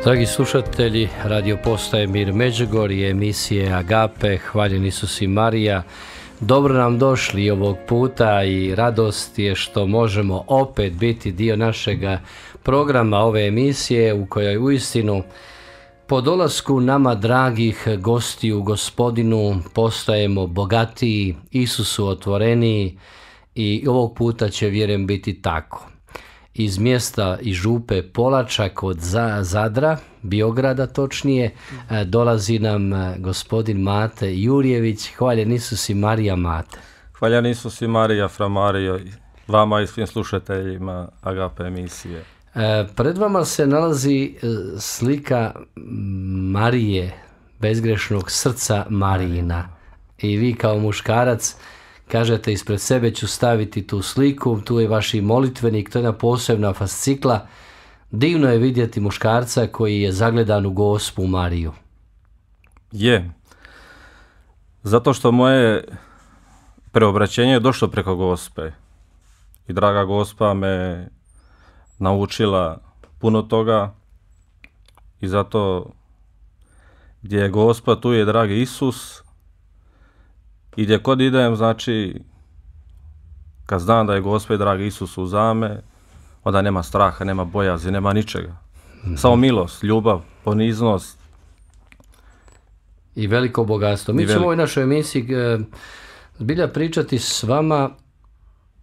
Dragi slušatelji, radio postaje Mir Međugorje, emisije Agape, hvaljen Isus i Marija. Dobro nam došli ovog puta i radost je što možemo opet biti dio našega programa ove emisije u kojoj uistinu po dolasku nama dragih gostiju Gospodinu postajemo bogatiji, Isusu otvoreniji i ovog puta će, vjerujem, biti tako. Iz mjesta i župe Polača kod Zadra, Biograda točnije, dolazi nam gospodin Mate Jurjević. Hvaljen Isus i Marija, Mate. Hvaljen Isus i Marija, fra Marijo, vama i svim slušateljima Agape emisije. Pred vama se nalazi slika Marije, bezgrešnog srca Marijina. I vi kao muškarac kažete, ispred sebe ću staviti tu sliku, tu je vaš molitvenik, to je jedna posebna fascikla. Divno je vidjeti muškarca koji je zagledan u Gospu Mariju. Je. Zato što moje preobraćenje je došlo preko Gospe. I draga Gospa me naučila puno toga. I zato gdje je Gospa, tu je dragi Isus. I gdje kod idem, znači, kad znam da je Gospod dragi Isus uzame, onda nema straha, nema bojazi, nema ničega. Samo milost, ljubav, poniznost. I veliko bogatstvo. Mi ćemo u ovoj našoj emisiji zbilja pričati s vama,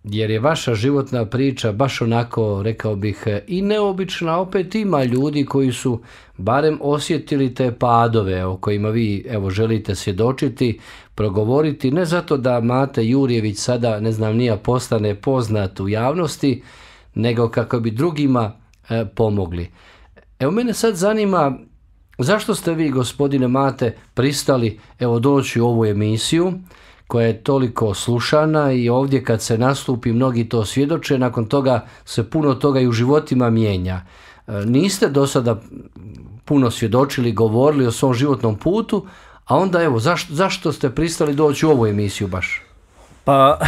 jer je vaša životna priča baš onako, rekao bih, i neobična. Opet ima ljudi koji su barem osjetili te padove o kojima vi želite svjedočiti, progovoriti, ne zato da Mate Jurjević sada, ne znam nija, postane poznat u javnosti, nego kako bi drugima pomogli. Evo, mene sad zanima, zašto ste vi, gospodine Mate, pristali doći u ovu emisiju koja je toliko slušana i ovdje kad se nastupi mnogi to svjedoče, nakon toga se puno toga i u životima mijenja. Niste do sada puno svjedočili, govorili o svom životnom putu, a onda zašto ste pristali doći u ovu emisiju baš? Pa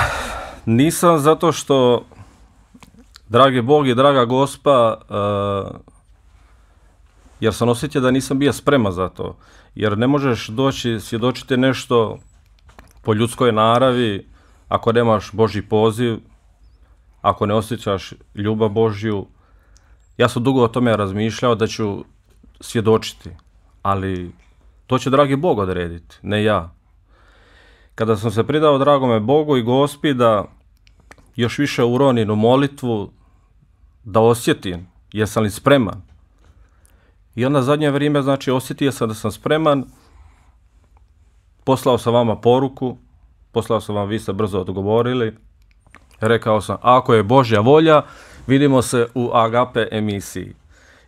nisam, zato što dragi Bog i draga Gospa, jer sam osjetio da nisam bio spreman za to. Jer ne možeš doći svjedočiti nešto po ljudskoj naravi ako nemaš Božji poziv, ako ne osjećaš ljubav Božju. Ja sam dugo o tome razmišljao da ću svjedočiti, ali to će dragi Bog odrediti, ne ja. Kada sam se pridao dragome Bogu i Gospi da još više uronim u molitvu, da osjetim jesam li spreman. I onda zadnje vrijeme, znači, osjetio sam da sam spreman. Poslao sam vama poruku, poslao sam vam, vi ste brzo odgovorili. Rekao sam, ako je Božja volja, vidimo se u Agape emisiji.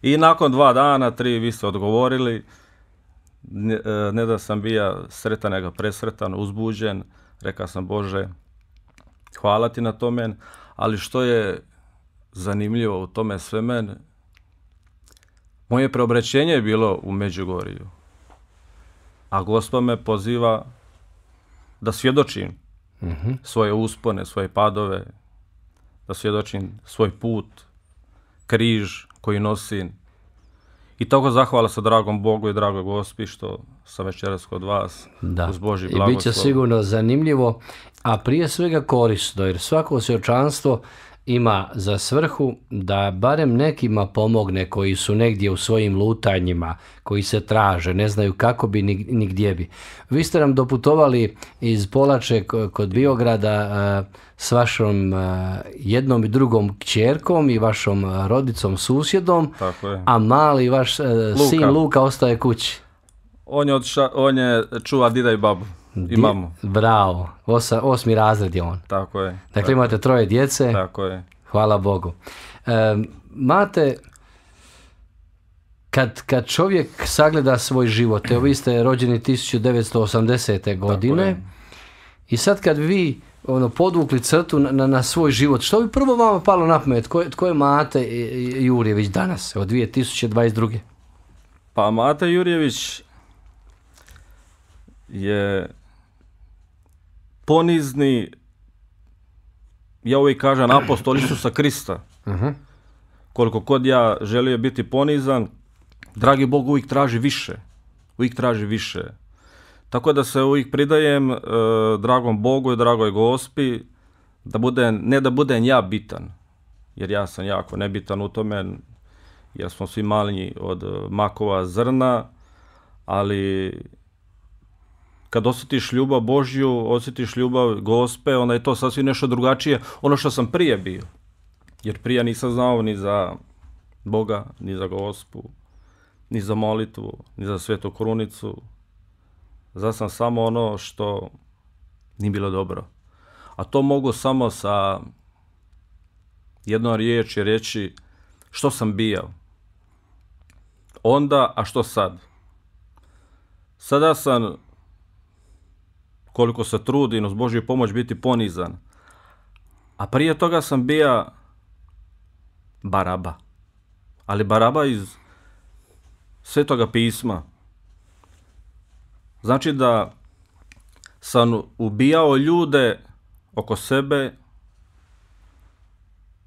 I nakon 2 dana, 3, vi ste odgovorili. Ne da sam bio sretan, nego presretan, uzbuđen. Rekao sam, Bože, hvala ti na tome. Ali što je zanimljivo u tome sve mene, moje preobraćenje je bilo u Međugorju. A Gospod me poziva da svjedočim svoje uspone, svoje padove, da svjedočim svoj put, križ koji nosim. I tako zahvala se dragom Bogu i dragoj Gospi što sam večeras kod vas uz Božji blagoslov. I bit će sigurno zanimljivo, a prije svega korisno, jer svako svjedočanstvo ima za svrhu da barem nekima pomogne koji su negdje u svojim lutanjima, koji se traže, ne znaju kako bi ni gdje bi. Vi ste nam doputovali iz Polače kod Biograda s vašom jednom i drugom kćerkom i vašom rodicom, susjedom, a mali vaš sin Luka ostaje kući. On je čuva dida i babu. Imamo. Bravo, 8. razred je on. Tako je. Dakle, imate 3 djece. Tako je. Hvala Bogu. Mate, kad čovjek sagleda svoj život, evo vi ste rođeni 1980. godine i sad kad vi podvukli crtu na svoj život, što bi prvo vama palo na pamet? Tko je Mate Jurjević danas, od 2022. Pa Mate Jurjević je ponizni, ja uvijek kažem, apostol Isusa Krista. Koliko kod ja želio biti ponizan, dragi Bog uvijek traži više. Uvijek traži više. Tako da se uvijek pridajem dragom Bogu i dragoj Gospi, ne da budem ja bitan, jer ja sam jako nebitan u tome, jer smo svi manji od makova zrna, ali kad osjetiš ljubav Božju, osjetiš ljubav Gospe, onda je to sasvim nešto drugačije, ono što sam prije bio. Jer prije nisam znao ni za Boga, ni za Gospu, ni za molitvu, ni za Svetu Krunicu. Znao sam samo ono što nije bilo dobro. A to mogu samo sa jednom riječi reći što sam bio onda, a što sad. Sada sam, koliko se trudim uz Božju pomoć biti ponizan, a prije toga sam bio Baraba. Ali Baraba iz Svetoga pisma. Znači da sam ubijao ljude oko sebe,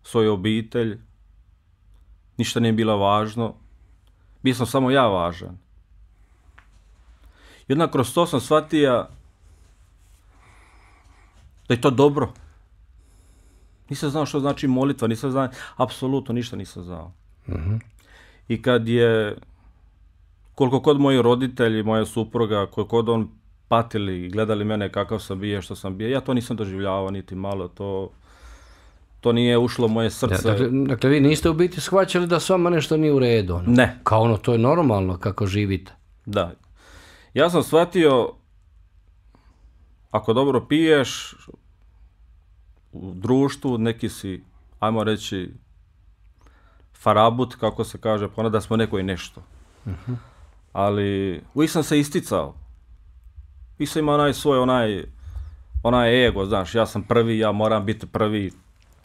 svoju obitelj, ništa nije bilo važno, bio sam samo ja važan. I onda kroz to sam shvatio da je to dobro. Nisam znao što znači molitva, nisam znao, apsolutno ništa nisam znao. I kad je, koliko kod moji roditelji, moja supruga, koliko kod on patili i gledali mene kakav sam bio, što sam bio, ja to nisam doživljavao niti malo, to nije ušlo u moje srce. Dakle, vi niste u biti shvaćali da s vama nešto nije u redu? Ne. Kao ono, to je normalno kako živite? Da. Ja sam shvatio, ako dobro piješ, u društvu neki si, ajmo reći, farabut, kako se kaže, pa onda da smo neko i nešto. Ali uvijek sam se isticao. Uvijek sam imao onaj ego, znaš, ja sam prvi, ja moram biti prvi,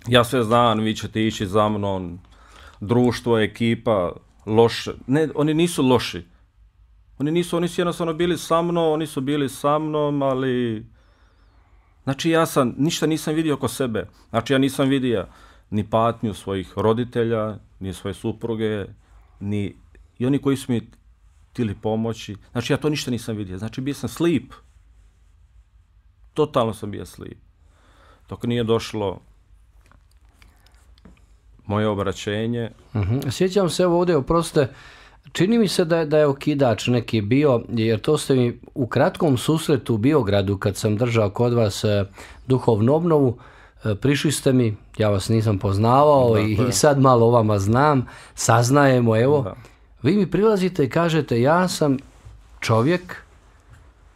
ja sve znam, vi ćete ići za mnom, društvo, ekipa, loše. Ne, oni nisu loši. Oni su jednostavno bili sa mnom, oni su bili sa mnom, ali... Znači ja ništa nisam vidio oko sebe. Znači ja nisam vidio ni patnju svojih roditelja, ni svoje supruge, ni i oni koji su mi htjeli pomoći. Znači ja to ništa nisam vidio. Znači bio sam slip. Totalno sam bio slip. Dok nije došlo moje obraćenje. Sjećam se ovdje, oprostite, čini mi se da je okidač neki bio, jer to ste mi u kratkom susretu u Biogradu, kad sam držao kod vas duhovnu obnovu, prišli ste mi, ja vas nisam poznavao i sad malo o vama znam, saznajemo, evo. Da. Vi mi prilazite i kažete, ja sam čovjek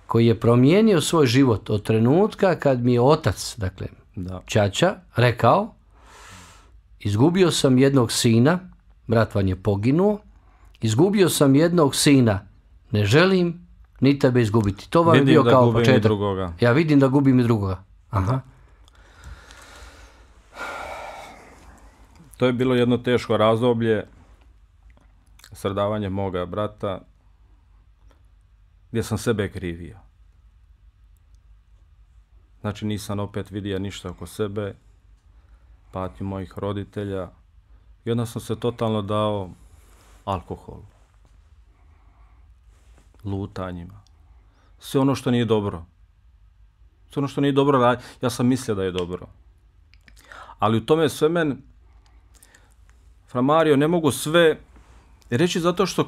koji je promijenio svoj život od trenutka kad mi je otac, dakle, ćaća, rekao, izgubio sam jednog sina, brat vam je poginuo, izgubio sam jednog sina, ne želim ni tebe izgubiti. To vam je bio kao početak. Ja vidim da gubim i drugoga. Aha. To je bilo jedno teško razdoblje, stradavanje moga brata, gdje sam sebe krivio. Znači nisam opet vidio ništa oko sebe, patnju mojih roditelja, i onda sam se totalno dao alkoholu, lutanjima, sve ono što nije dobro. Sve ono što nije dobro, ja sam mislio da je dobro. Ali u tome sve Fra Mario, ne mogu sve reći zato što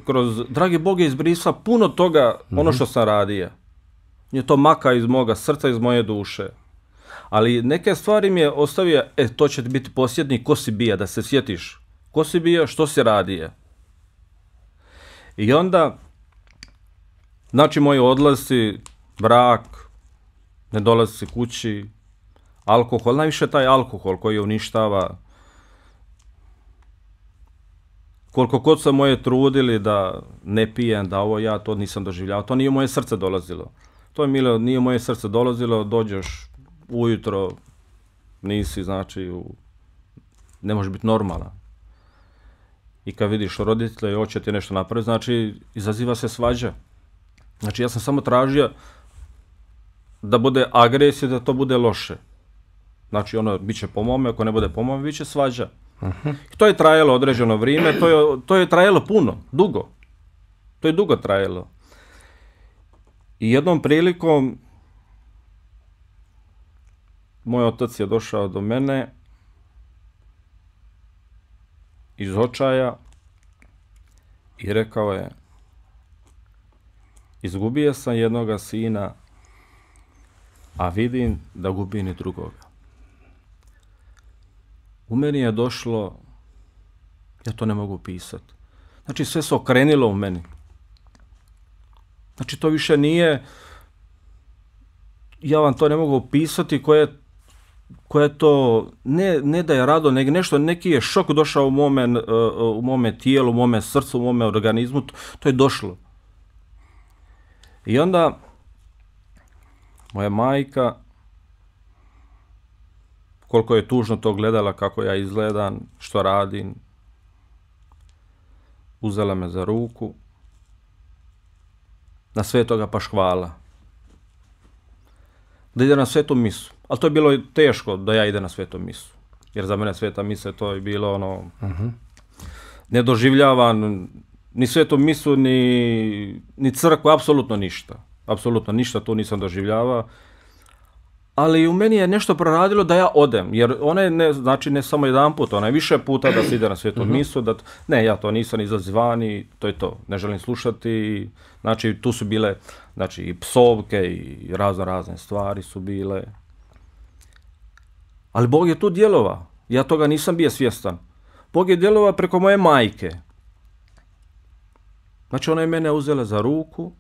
kroz dragi Bog je izbrisao puno toga, ono što sam radio. Je to maka iz moga srca, iz moje duše. Ali neke stvari mi je ostavio, to će biti posljednji, ko si bija, da se sjetiš. Ko si bio, što si radio. I onda, znači moji odlasci, brak, ne dolazi kući, alkohol, najviše taj alkohol koji uništava. Koliko god sam moje trudili da ne pijem, da ovo ja to nisam doživljavao, to nije u moje srce dolazilo. To je milo, nije u moje srce dolazilo, dođeš ujutro, nisi, znači, ne možeš biti normalan. I kad vidiš roditelja i hoće ti nešto napraviti, znači, izaziva se svađa. Znači, ja sam samo tražio da bude agresija, da to bude loše. Znači, ono, bit će po mome, ako ne bude po mome, bit će svađa. To je trajalo određeno vrijeme, to je trajalo puno, dugo. To je dugo trajalo. I jednom prilikom moj otac je došao do mene iz očaja i rekao je: izgubio sam jednoga sina, a vidim da gubim i drugoga. U meni je došlo, ja to ne mogu pisati. Znači sve se okrenilo u meni. Znači to više nije, ja vam to ne mogu opisati koje to, ne da je rado, nego nešto, neki je šok došao u mome tijelu, u mome srcu, u mome organizmu, to je došlo. I onda moja majka, koliko je tužno to gledala, kako ja izgledam, što radim, uzela me za ruku, na Svetoga Paškvala, da ide na svetu misu. Ali to je bilo teško da ja ide na svetu misu, jer za mene sveta misa to je bilo ono, ne doživljavan ni svetu misu, ni crkvu, apsolutno ništa. Apsolutno ništa tu nisam doživljavao. Ali u meni je nešto proradilo da ja odem, jer ona je, znači ne samo jedan put, ona je više puta da se ide na svetu misu, ne, ja to nisam izazivani, to je to, ne želim slušati, znači tu su bile, znači i psovke i razne stvari su bile. Ali Bog je tu djelovao, ja toga nisam bio svjestan. Bog je djelovao preko moje majke. Znači ona je mene uzela za ruku,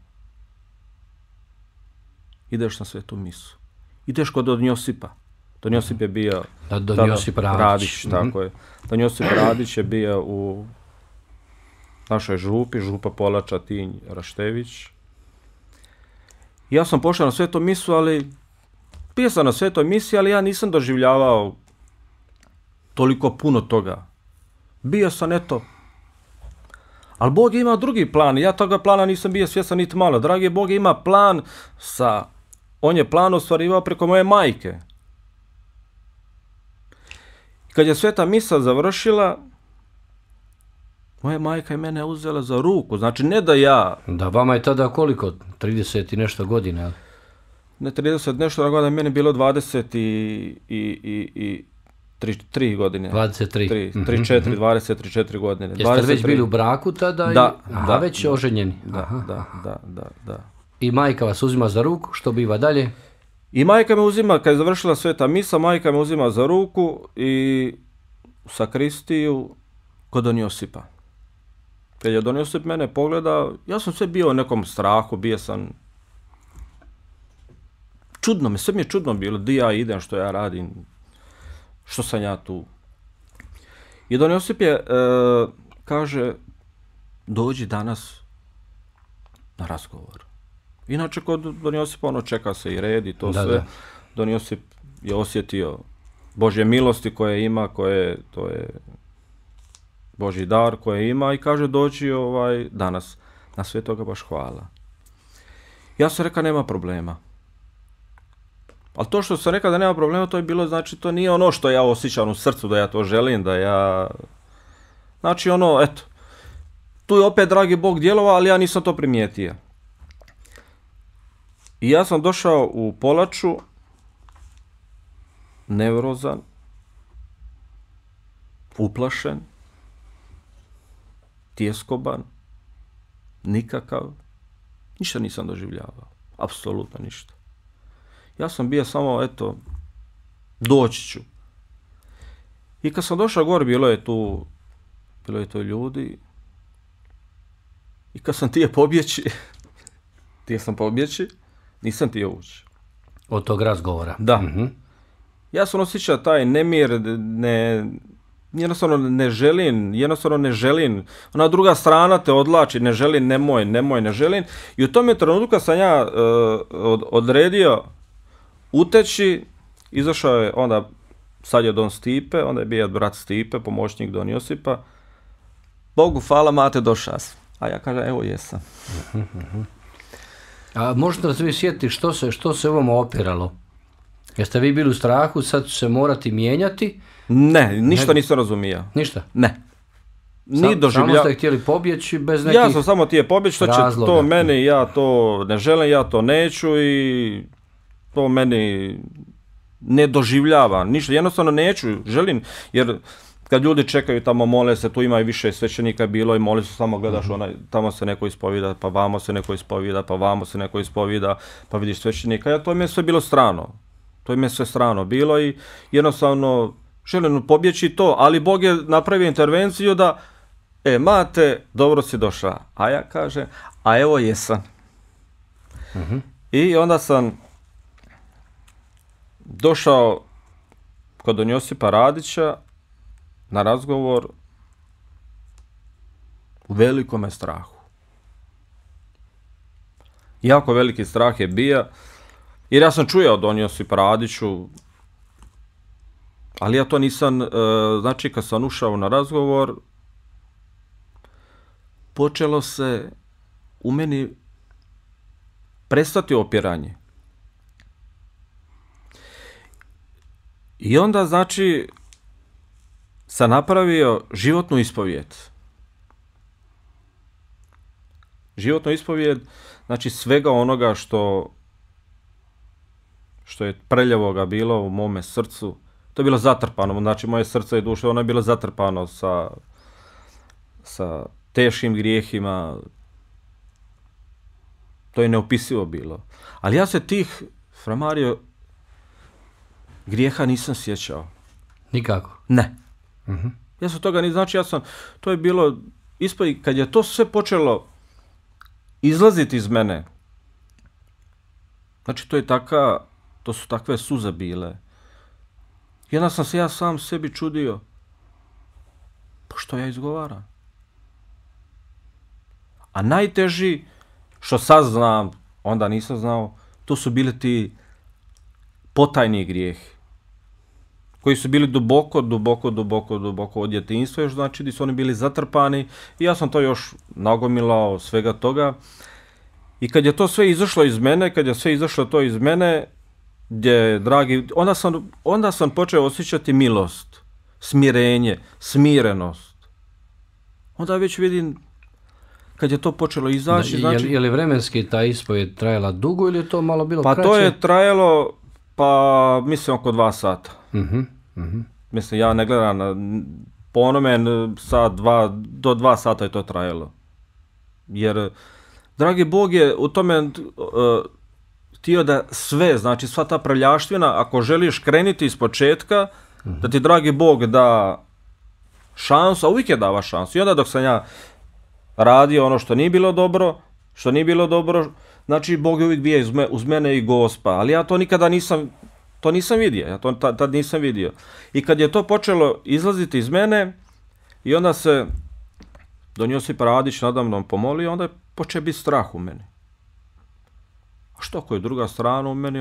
ideš na svetu misu. Ideš kod Don Josipa. Don Josip je bio... Don Josip Radić. Tako je. Don Josip Radić je bio u našoj župi, župa Polača, Tinj, Raštević. Ja sam pošao na svetu misu, bio sam na svetoj misi, ali ja nisam doživljavao toliko puno toga. Bio sam, eto. Ali Bog je imao drugi plan. Ja toga plana nisam bio svjestan niti malo. Dragi Bog ima plan on je plan ostvarivao preko moje majke. Kad je sveta misa završila, moja majka je mene uzela za ruku. Znači ne da ja... Da, vama je tada koliko? 30 i nešto godina? Ne 30 nešto godina, meni je bilo 23 godine. 23. 24 godine. Jeste već bili u braku tada? Da. Već oženjeni? Da. I majka vas uzima za ruku, što biva dalje? I majka me uzima, kad je završila sveta misa, majka me uzima za ruku i u sakristiju kod Don Josipa. Kad je Don Josip mene pogledao, ja sam sve bio u nekom strahu, bio sam... sve mi je čudno bilo, di ja idem, što ja radim, što sam ja tu. I Don Josip je, kaže, dođi danas na razgovor. Inače, kod Don Josipa čeka se i red i to sve. Da. Don Josip je osjetio Božje milosti koje ima, to je Božji dar koje ima i kaže dođi danas na Svetoga Paškvala. Ja sam rekao nema problema. Ali to što sam rekao da nema problema, to je bilo, znači to nije ono što ja osjećam u srcu da ja to želim, da ja... Znači eto, tu je opet dragi Bog djelovao, ali ja nisam to primijetio. I ja sam došao u Polaču, nevrozan, uplašen, tjeskoban, nikakav, ništa nisam doživljavao, apsolutno ništa. Ja sam bio samo, eto, doći ću. I kad sam došao gore, bilo je tu ljudi, i kad sam htio pobjeći, nisam htio ući. Od tog razgovora? Da. Ja sam osjećao taj nemir, jednostavno ne želim. Ona druga strana te odlači, ne želim, ne želim. I u tom trenutku kad sam ja odredio uteći, izašao je onda, sad je Don Stipe, onda je bio brat Stipe, pomoćnik Don Josipa. Bogu hvala, mate, došao. A ja kažem, evo jesam. A možete da se vi sjetiti što se ovom opiralo? Jeste vi bili u strahu, sad ću se morati mijenjati? Ne, ništa nisam razumio. Ništa? Ne. Samo ste htjeli pobjeći bez nekih Ja sam samo htio pobjeći, što će to meni, ja to ne želim, ja to neću i to meni ne doživljava. Ništa, jednostavno neću, želim, jer kad ljudi čekaju tamo, mole se, tu ima i više svećenika bilo i moli se, samo gledaš, tamo se neko ispovida, pa vamo se neko ispovida, pa vamo se neko ispovida, pa vidiš svećenika. Ja, to mi je sve bilo strano. To mi je sve strano bilo i jednostavno želim pobjeći to, ali Bog je napravio intervenciju da mate, dobro si došla. A ja kažem, a evo jesam. I onda sam došao kod don Josipa Radića na razgovor u velikome strahu. Jako veliki strah je bio, jer ja sam čuo od don Josipa Radiću, ali ja to nisam, znači kad sam ušao na razgovor, počelo se u meni prestati opiranje. I onda, znači, sam napravio životnu ispovijed. Životnu ispovijed, znači svega onoga što je prljavoga bilo u mome srcu. To je bilo zatrpano, znači moje srce i duša, ono je bilo zatrpano sa teškim grijehima. To je neopisivo bilo. Ali ja se tih, fra Mario, grijeha nisam sjećao. Nikako? Ne. Ja sam toga znači to je bilo, kad je to sve počelo izlaziti iz mene, znači to su takve suze bile. I onda sam se ja sam sebi čudio, pa što ja izgovaram? A najteži, što sad znam, onda nisam znao, to su bili ti potajni grijehi, koji su bili duboko od djetinjstva, još znači da su oni bili zatrpani i ja sam to još nagomilao svega toga. I kad je to sve izašlo iz mene, onda sam počeo osjećati milost, smirenje, smirenost. Onda već vidim, kad je to počelo izaći, znači... Je li vremenski ta ispovijed trajala dugo ili je to malo bilo kraće? Pa to je trajalo, mislim oko 2 sata. Mislim, ja ne gledam, po onome do 2 sata je to trajalo. Jer, dragi Bog je u tome htio da sve, znači sva ta prljaštvina, ako želiš krenuti iz početka, da ti dragi Bog da šansu, a uvijek je dava šansu. I onda dok sam ja radio ono što nije bilo dobro, znači Bog je uvijek bio uz mene i Gospa, ali ja to nikada nisam vidio, ja to tad nisam vidio. I kad je to počelo izlaziti iz mene, i onda se don Josip Radić nadamnom pomolio, onda je počeo biti strah u meni. A što ako je druga strana u meni,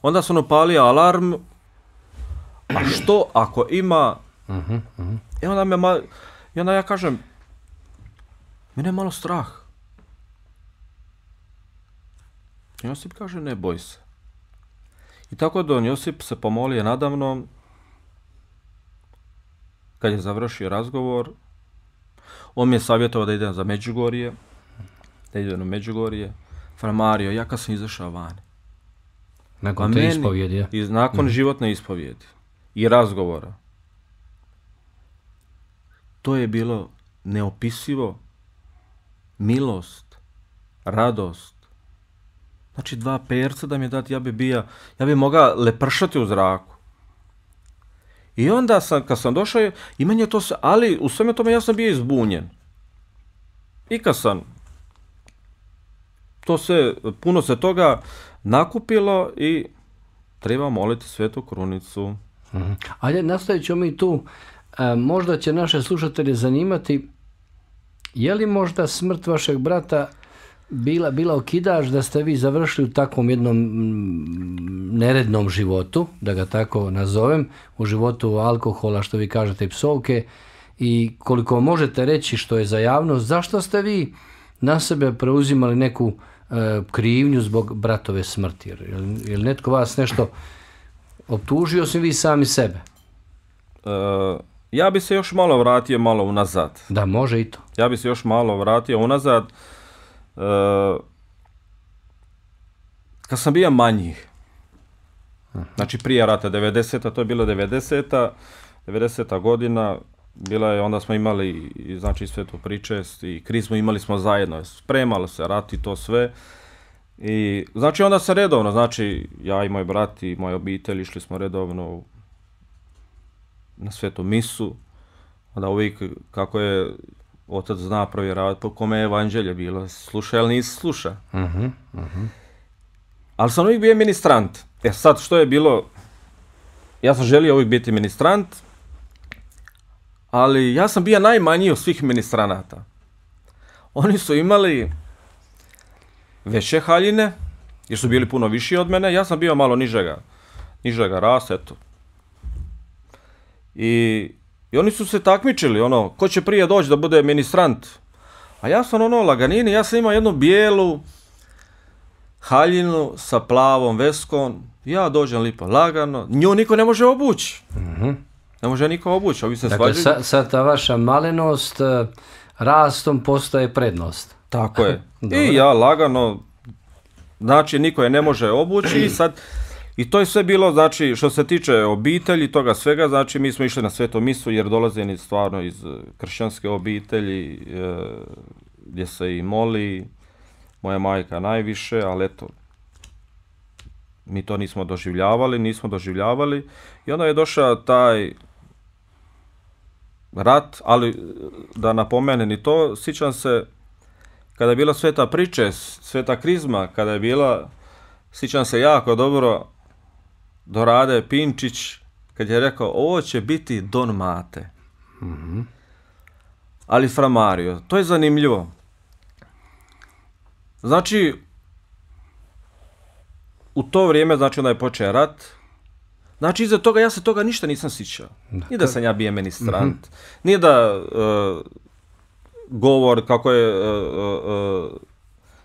onda sam upalio alarm, a što ako ima, i onda ja kažem, mene je malo strah. Josip kaže, ne boj se. I tako don Josip se pomolio nadamnom, kad je završio razgovor, on mi je savjetovao da idem za Međugorje, da idem u Međugorje. Fra Mario, ja kad sam izašao vani. Nakon te ispovjedi? Nakon životne ispovjedi i razgovora. To je bilo neopisivo, milost, radost. Znači 2 perca da mi je dati, ja bi mogao lepršati u zraku. I onda kad sam došao, i meni je to se, ali u sveme tome ja sam bio izbunjen. I kad sam puno se toga nakupilo i treba moliti Svetu Krunicu. Ajde, nastavit ćemo mi tu. Možda će naše slušatelje zanimati, je li možda smrt vašeg brata bila okidač da ste vi završili u takvom jednom nerednom životu, da ga tako nazovem, u životu alkohola, što vi kažete, i psovke, i koliko možete reći što je za javnost, zašto ste vi na sebe preuzimali neku krivnju zbog bratove smrti? Je li netko vas nešto optužio, osim vi sami sebe? Ja bi se još malo vratio malo unazad. Da, može i to. Ja bi se još malo vratio unazad. Kad sam bio manji, znači prije rata 90-a, to je bilo 90-a godina, bila je, onda smo imali znači svetu pričest i krizmu imali smo zajedno, spremalo se rat i to sve. I znači onda se redovno, znači ja i moj brat i moja obitelj išli smo redovno na svetu misu, onda uvijek kako je otac zna provjeravati po kome je evanđelje bilo, sluša ili nisi sluša. Ali sam uvijek bio ministrant. Sad što je bilo, ja sam želio uvijek biti ministrant, ali ja sam bio najmanji od svih ministranata. Oni su imali veće haljine, jer su bili puno viši od mene, ja sam bio malo nižega rasta, eto. I oni su se takmičili, ko će prije doći da bude ministrant. A ja sam laganini, ja sam imao jednu bijelu haljinu sa plavom veskom, ja dođem lipo lagano, nju niko ne može obući. Ne može niko obući, ovi se svađaju. Dakle, sad ta vaša malenost rastom postaje prednost. Tako je. I ja lagano, znači niko je ne može obući i sad, i to je sve bilo, znači što se tiče obitelji, toga svega, znači mi smo išli na svetu misu jer dolazim stvarno iz kršćanske obitelji, gdje se i moli, moja majka najviše, ali eto, mi to nismo doživljavali i onda je došao taj rat, ali da napomenem i to, sjećam se kada je bila sveta pričest, sveta krizma, kada je bila, sjećam se jako dobro, Dorade Pinčić, kad je rekao, ovo će biti Don Mate. Ali Fra Mario, to je zanimljivo. Znači, u to vrijeme, znači onda je počeo rat, znači iza toga ja se toga ništa nisam sjećao. Nije da sam ja bio ministrant, nije da govor kako je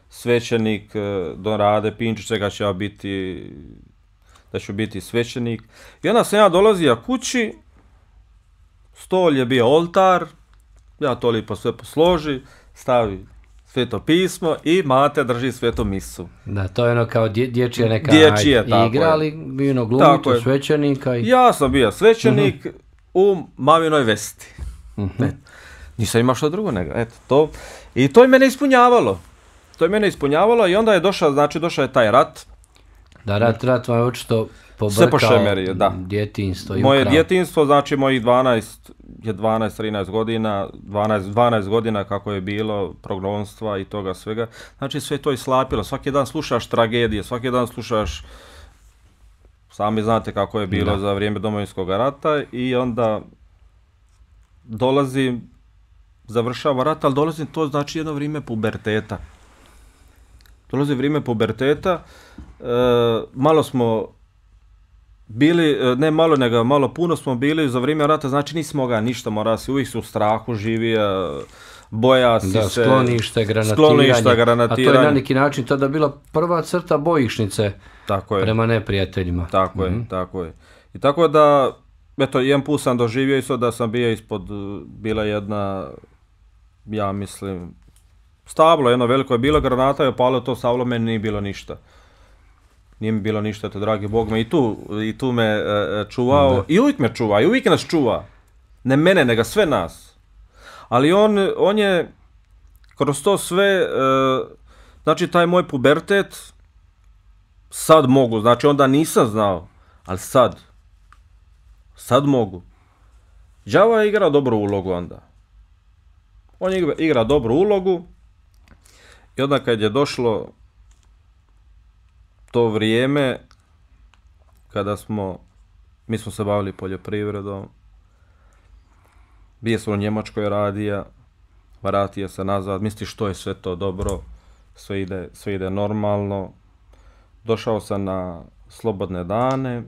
svećenik Dorade Pinčić, čega će ja biti, da ću biti svećenik. I onda sam ja dolazio kući, stol je bio oltar, ja to lipo sve posloži, stavi sveto pismo i mate drži svetu misu. Da, to je ono kao dječja neka igra, ali bio glumito svećenika. Ja sam bio svećenik u maminoj vesti. Nisam imao što drugo nego, eto, to. I to je mene ispunjavalo. I onda je došao je taj rat. Da, rat vam je očito pobrkao djetinjstvo. Moje djetinjstvo, znači mojih 12-13 godina, 12 godina kako je bilo, progonstva i toga svega. Znači sve to je slapilo, svaki dan slušaš tragedije, svaki dan slušaš, sami znate kako je bilo za vrijeme Domovinskog rata i onda završava rat, ali dolazim, to znači jedno vrijeme puberteta. Malo smo bili, ne malo nego malo puno smo bili za vrijeme rata, znači nismo ga ništa, mora si uvijek u strahu živio, boja si se. Sklonište, granatiranje. A to je na neki način tada bila prva crta bojišnice prema neprijateljima. Tako je. I tako da, eto, jedan put sam doživio isto da sam bio ispod, bila jedna, ja mislim, stablo, jedno veliko je bilo, granata je opalo to stablo, meni nije bilo ništa. Nije mi bilo ništa, to dragi Bog me i tu me čuvao. I uvijek me čuva, i uvijek nas čuva. Ne mene, nego sve nas. Ali on je kroz to sve, znači taj moj pubertet, sad mogu, znači onda nisam znao, ali sad mogu. Đavo je igrao dobru ulogu onda. On je igra dobru ulogu i onda kad je došlo to vrijeme kada mi smo se bavili poljoprivredom, bio sam u Njemačkoj radija, vratio se nazad, misliš što je sve to dobro, sve ide normalno. Došao sam na slobodne dane,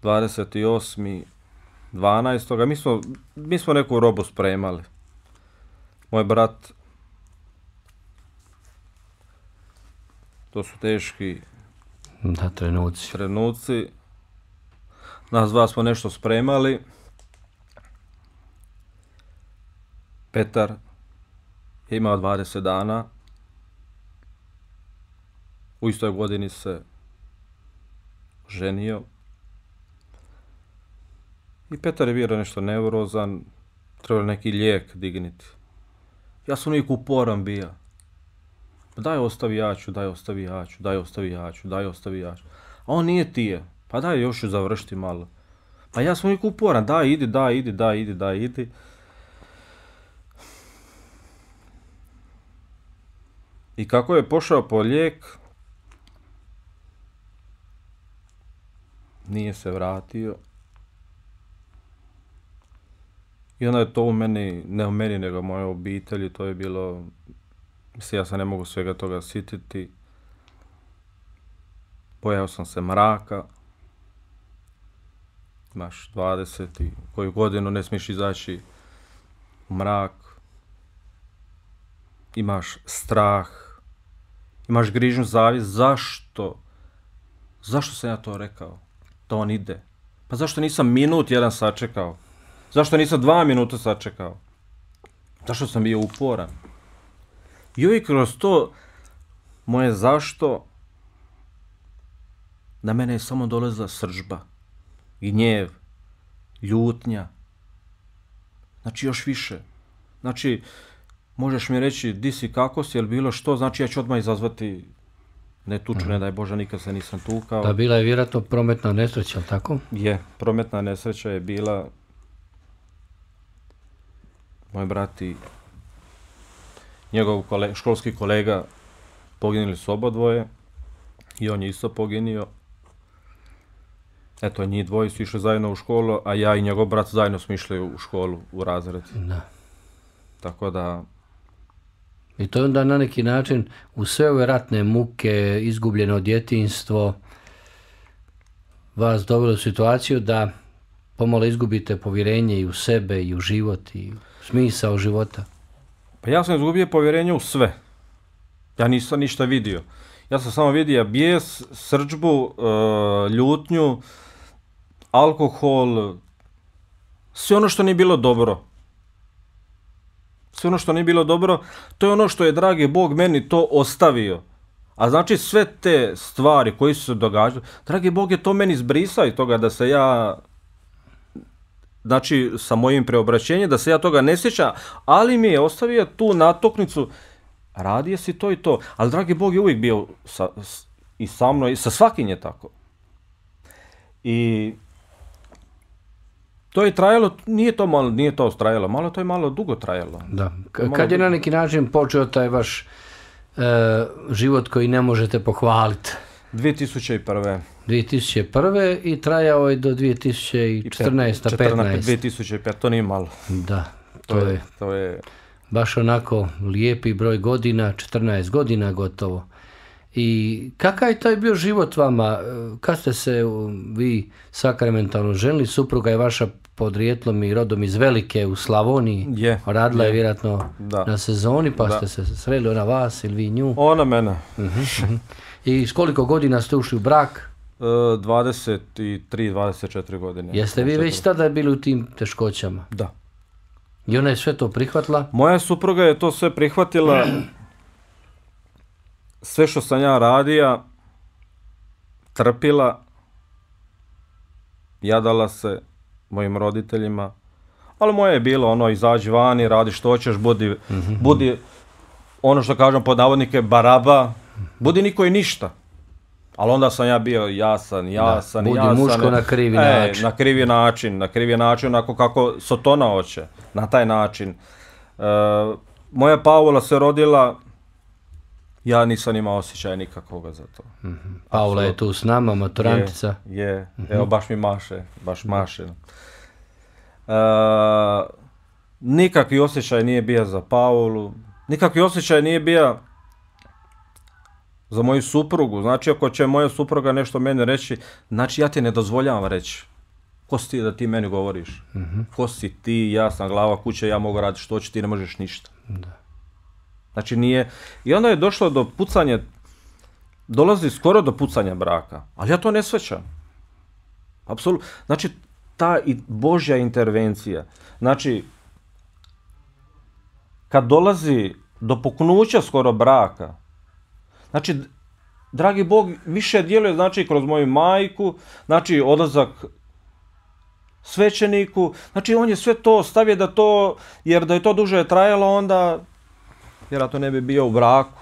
28.12. Mi smo neku robu spremali. Moj brat To su teški trenuci. Nas dva smo nešto spremali. Petar je imao 20 dana. U istoj godini se ženio. I Petar je bio nešto neurozan. Trebalo neki lijek digniti. Ja sam uvijek uporan bio. Daj ostavi jaču. A on nije tije. Pa daj još ću završiti malo. Pa ja sam uvijek uporan. Daj idi. I kako je pošao po lijek, nije se vratio. I onda je to u meni, ne u meni, nego u mojoj obitelji, to je bilo, mislim, ja se ne mogu svega toga sjetiti. Bojao sam se mraka. Imaš 20 i koju godinu ne smiješ izaći u mrak. Imaš strah. Imaš grižnju zavist. Zašto? Zašto sam ja to rekao? Da on ide. Pa zašto nisam minut jedan sačekao? Zašto nisam 2 minuta sačekao? Zašto sam bio uporan? I uvijek kroz to moje zašto na mene je samo dolazila srdžba, gnjev, ljutnja. Znači još više. Znači, možeš mi reći di si, kako si, ili bilo što, znači ja ću odmah izazvati ne tuču, ne daj Bože, nikad se nisam tukao. Da, bila je vjerojatno prometna nesreća, ali tako? Je, prometna nesreća je bila. Moj brat i njegov školski kolega poginuli su obadvoje i on je isto poginio. Eto, njih dvoje su išli zajedno u školu, a ja i njegov brat zajedno smo išli u školu, u razred. Da. Tako da... I to je onda na neki način u sve ove ratne muke, izgubljeno djetinjstvo, vas dovelo u situaciju da pomalo izgubite povjerenje i u sebe, i u život, i u smisao života. Pa ja sam izgubio povjerenje u sve. Ja nisam ništa vidio. Ja sam samo vidio bijes, srdžbu, ljutnju, alkohol, sve ono što nije bilo dobro. Sve ono što nije bilo dobro, to je ono što je, dragi Bog, meni to ostavio. A znači sve te stvari koje su se događale, dragi Bog je to meni zbrisao iz toga da se ja, znači sa mojim preobraćenjem, da se ja toga ne sjećam, ali mi je ostavio tu natuknicu, radio si to i to. Ali dragi Bog je uvijek bio i sa mnom, i sa svakim je tako. I to je trajalo, nije to trajalo, malo to je malo dugo trajalo. Da. Kad je na neki način počeo taj vaš život koji ne možete pohvaliti? 2001. 2001. i trajao je do 2014. 2005, to nije malo. Da, to je baš onako lijepi broj godina, 14 godina gotovo. I kakav je taj bio život vama? Kad ste se vi sakramentalno ženili? Supruga je vaša podrijetlom i rodom iz Velike u Slavoniji. Radila je vjerojatno na sezoni, pa ste se sreli, ona vas ili vi nju? Ona mene. I s koliko godina ste ušli u brak? 23-24 godine. Jeste vi već tada bili u tim teškoćama? Da. I ona je sve to prihvatila? Moja supruga je to sve prihvatila. Sve što sam ja radija, trpila, jadala se mojim roditeljima, ali moje je bilo ono, izađi vani, radi što hoćeš, budi ono što kažem pod navodnike baraba, budi niko i ništa. Ali onda sam ja bio jasan. Budi muško na krivi način. Na krivi način, onako kako Sotona hoće, na taj način. Moja Paula se rodila, ja nisam imao osjećaja nikakvoga za to. Paula je tu s nama, maturantica. Evo baš mi maše. Nikakvi osjećaj nije bio za Paulu, nikakvi osjećaj nije bio za moju suprugu. Znači ako će moja supruga nešto meni reći, znači ja ti ne dozvoljavam reći. Ko si ti da ti meni govoriš? Ko si ti, ja sam glava kuće, ja mogu raditi što ću, ti ne možeš ništa. Da. Znači nije, i onda je došlo do pucanja dolazi skoro do pucanja braka, ali ja to ne shvaćam. Apsolutno. Znači, ta Božja intervencija, znači, kad dolazi do puknuća skoro braka, znači, dragi Bog više djeluje, znači, kroz moju majku, znači, odlazak svećeniku, znači, on je sve to stavio da to, jer da je to duže trajalo, onda, vjerojatno ne bi bio u braku.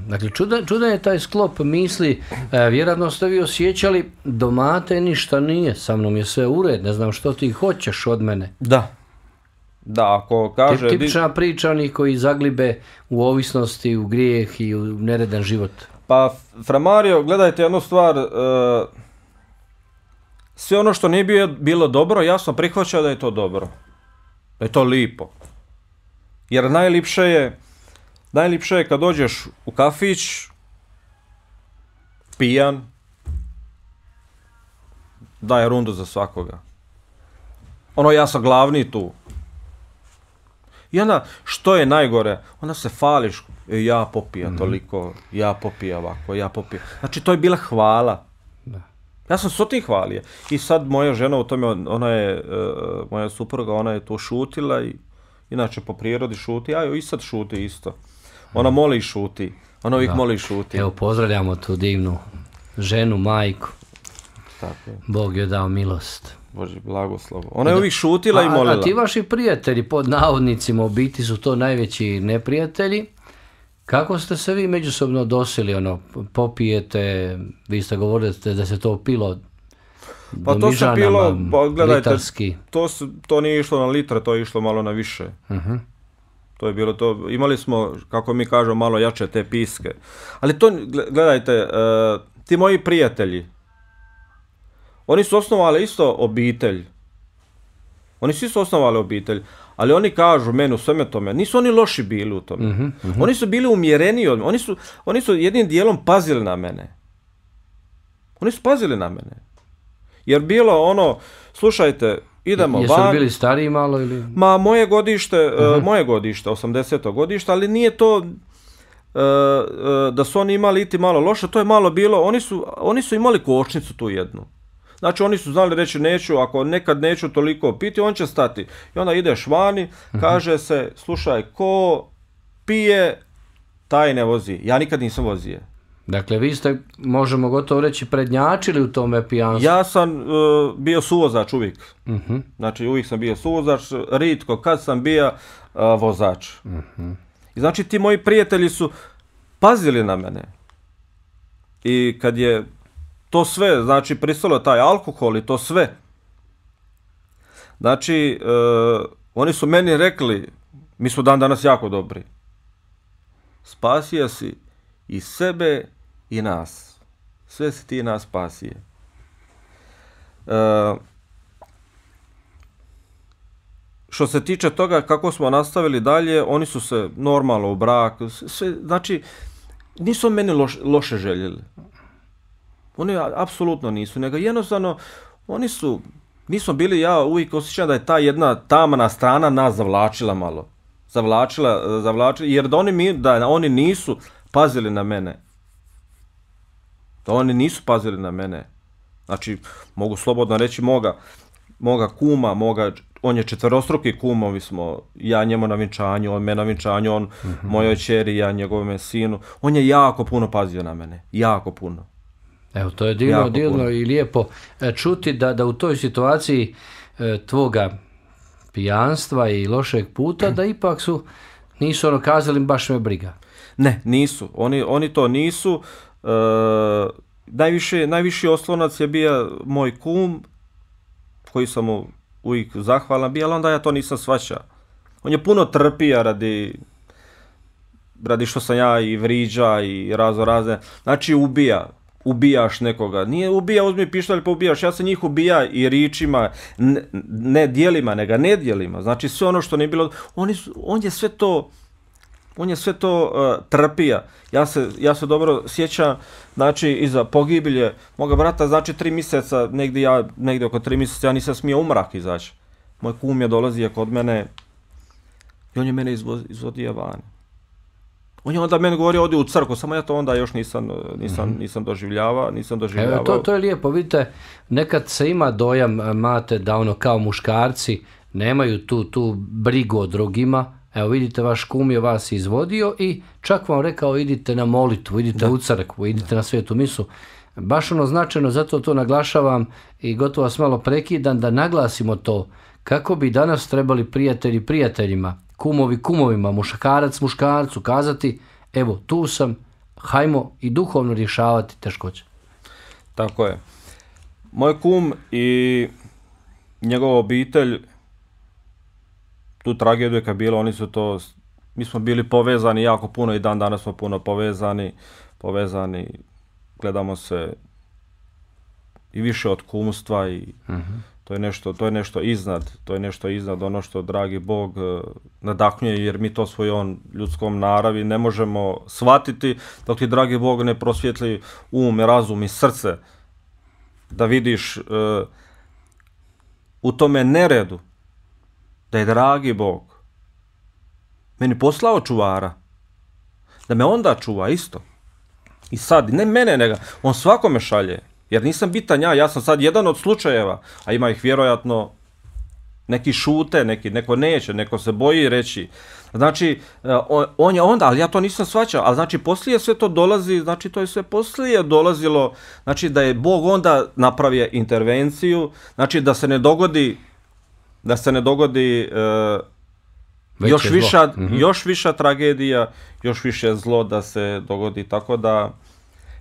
Dakle, čudan je taj sklop misli, vjerojatno ste vi osjećali, domate ništa nije, sa mnom je sve ured, ne znam što ti hoćeš od mene. Da, ako kaže... Tipična priča onih koji zaglibe u ovisnosti, u grijeh i u neredan život. Pa, Fra Mario, gledajte jednu stvar, sve ono što nije bilo dobro, ja sam prihvaćao da je to dobro, da je to lipo. Jer najlipše je kad dođeš u kafić, pijan, daje rundu za svakoga. Ja sam glavni tu. I onda, što je najgore, onda se fališ, ja popija toliko, ja popija ovako, ja popija. Znači, to je bila hvala. Ja sam s tim hvalio. I sad moja žena u tome, moja supruga, ona je to šutila i inače po prirodi šuti, a i sad šuti isto. Ona moli i šuti. Ona uvijek moli i šuti. Evo, pozdravljamo tu divnu ženu, majku. Tako je. Bog joj dao milost. Bože, blagoslov. Ona je uvijek šutila i molila. A ti vaši prijatelji, pod navodnicima, u biti su to najveći neprijatelji. Kako ste se vi međusobno dosili, popijete, vi ste govorili da se to pilo do mižanama, litarski. To nije išlo na litre, to je išlo malo na više. To je bilo to, imali smo, kako mi kažemo, malo jače te piske. Ali to, gledajte, ti moji prijatelji, oni su osnovali isto obitelj. Ali oni kažu meni u sveme tome, nisu oni loši bili u tome. Oni su bili umjereniji od mene. Oni su jednim dijelom pazili na mene. Jer bilo slušajte, idemo van. Jesu li bili stariji malo ili? Ma, moje godište, 80. godište, ali nije to da su oni imali iti malo loše, to je malo bilo, oni su imali kočnicu tu jednu. Znači, oni su znali reći neću, ako nekad neću toliko piti, on će stati. I onda ideš vani, kaže se, slušaj, ko pije, taj ne vozi. Ja nikad nisam vozio. Dakle, vi ste, možemo gotovo reći, prednjačili u tome pijanstvu. Ja sam bio suvozač uvijek. Znači, uvijek sam bio suvozač, ritko kad sam bio vozač. I znači, ti moji prijatelji su pazili na mene. I kad je to sve, znači, pristalo taj alkohol i to sve. Znači, oni su meni rekli, mi smo dan danas jako dobri. Spasio si i sebe i nas. Sve si ti nas spasio. Što se tiče toga kako smo nastavili dalje, oni su se normalno u brak, sve, znači, nisu meni loše željeli. Oni apsolutno nisu, nego jednostavno, nismo bili, ja uvijek osjećam da je ta jedna tamna strana nas zavlačila malo. Zavlačila, jer da oni nisu pazili na mene. Znači, mogu slobodno reći moga kuma, on je četverostruki kumovi smo, ja njemu na vinčanju, on me na vinčanju, on mojoj ćeri, ja njegovome sinu. On je jako puno pazio na mene, jako puno. Evo, to je divno i lijepo čuti da u toj situaciji tvoga pijanstva i lošeg puta, da ipak nisu kazali baš me briga. Ne, nisu. Oni to nisu. Najviši oslonac je bio moj kum, koji sam mu uvijek zahvalan bio, ali onda ja to nisam shvaćao. On je puno trpija radi što sam ja i vriđa i razne. Znači ubijaš nekoga. Nije ubija, uzmi pištolj pa ubijaš. Ja sam njih ubija i ričima, ne dijelima, nego nedjelima. Znači sve ono što nije bilo, on je sve to trpija. Ja se dobro sjećam, znači iza pogibilje moga brata, znači 3 mjeseca, negdje oko 3 mjeseca ja nisam smio u mrak izaći. Moj kum je dolazio kod mene i on je mene izvodio van. On je onda meni govorio, odi u crkvu, samo ja to onda još nisam doživljavao. Evo, to je lijepo, vidite, nekad se ima dojam, Mate, da ono kao muškarci nemaju tu brigu o drugima. Evo vidite, vaš kum je vas izvodio i čak vam rekao idite na molitvu, idite u crkvu, idite na svetu misu. Baš ono značajno, zato to naglašavam i gotovo vas malo prekidam da naglasimo to kako bi danas trebali prijatelji prijateljima, kumovi kumovima, muškarac muškarcu kazati evo tu sam, hajmo i duhovno rješavati teškoće. Tako je. Moj kum i njegova obitelj, tu tragediju kad je bilo, mi smo bili povezani jako puno i dan danas smo puno povezani, gledamo se i više od kumstva i to je nešto iznad ono što dragi Bog nadahnjuje, jer mi to svojom ljudskom naravi ne možemo shvatiti dok ti dragi Bog ne prosvjetli um, razum i srce da vidiš u tome neredu da je dragi Bog meni poslao čuvara, da me onda čuva isto. I sad, ne mene, nego on svakome šalje, jer nisam bitan ja sam sad jedan od slučajeva, a ima ih vjerojatno, neki šute, neko neće, neko se boji reći. Znači, on je onda, ali ja to nisam shvaćao, ali znači poslije sve to dolazi, znači to je sve poslije dolazilo, znači da je Bog onda napravio intervenciju, znači da se ne dogodi još viša tragedija, još više zlo da se dogodi, tako da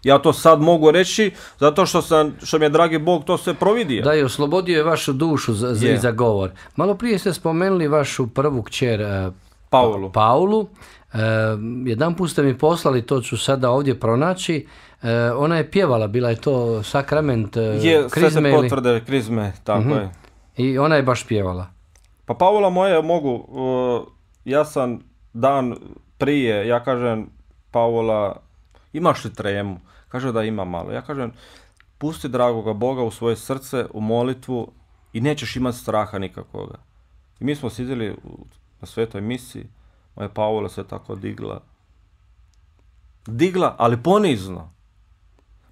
ja to sad mogu reći zato što mi je dragi Bog to sve providio. Da, i oslobodio je vašu dušu za govor. Malo prije ste spomenuli vašu prvu kćer Paulu. Jedanput ste mi poslali, to ću sada ovdje pronaći. Ona je pjevala, bila je to sakrament krizme. Sve se potvrde krizme, tako je. I ona je baš pjevala. Pa Paula moja mogu, ja sam dan prije, ja kažem Paula, imaš li tremu? Kaže da ima malo. Ja kažem, pusti dragoga Boga u svoje srce, u molitvu i nećeš imati straha nikakvoga. I mi smo sidjeli na svetoj misiji, moja Paula se tako digla, ali ponizno,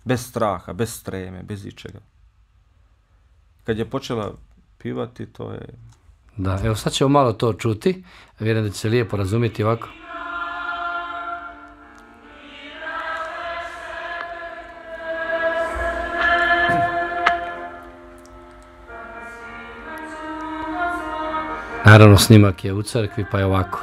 bez straha, bez treme, bez ičega. Kad je počela pivati, to je... Da, evo sad ćemo malo to čuti, vjerujem da će se lijepo razumjeti ovako. Naravno, snimak je u crkvi, pa je ovako.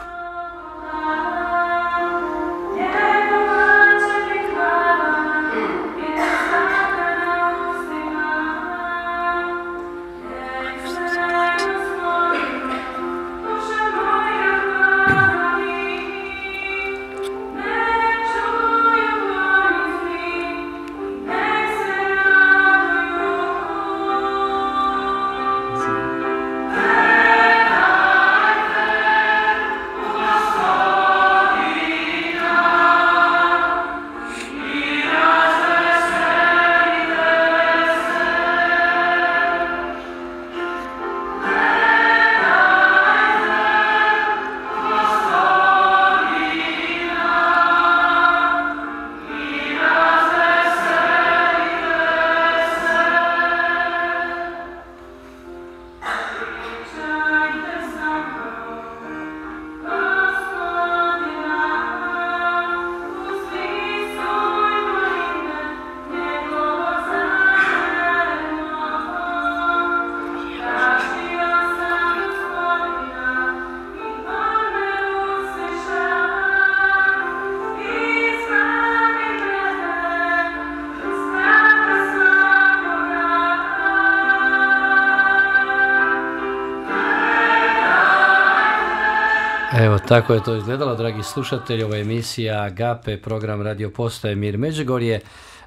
Evo, tako je to izgledalo, dragi slušatelji, ova emisija Agape, program Radio Postaje Mir Međugorje.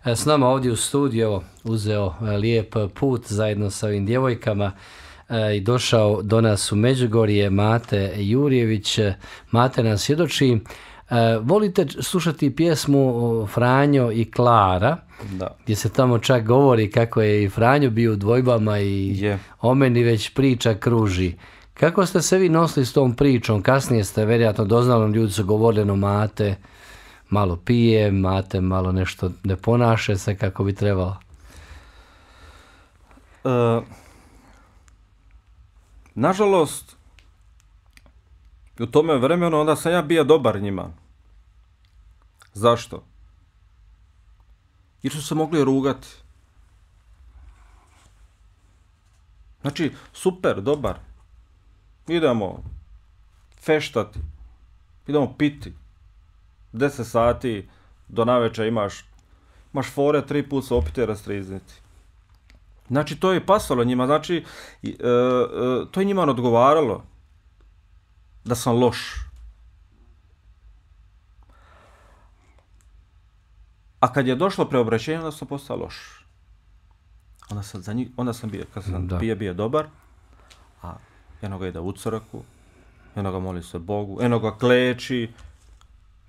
S nama ovdje u studiju uzeo lijep put zajedno sa ovim djevojkama i došao do nas u Međugorje Mate Jurjević. Mate nam svjedoči. Volite slušati pjesmu Franjo i Klara, gdje se tamo čak govori kako je i Franjo bio u dvojbama i o meni već priča kruži. Kako ste se vi nosili s tom pričom? Kasnije ste vjerojatno doznali, ljudi su govorili o Mate. malo pije, mate malo nešto ne ponaša se kako bi trebalo? Nažalost, u tome vremenu onda sam ja bio dobar njima. Zašto? Jer su se mogli rugati. Znači, super, dobar. Idemo feštati, idemo piti. 10 sati do navečer imaš fore, 3 put se opiti rastrizniti. Znači, to je pasalo njima, znači, to je njima odgovaralo da sam loš. A kad je došlo preobraćenje, onda sam postao loš. Onda sam bio, kad sam bio dobar, a jednoga ide u crkvu, jednoga moli se Bogu, jednoga kleči,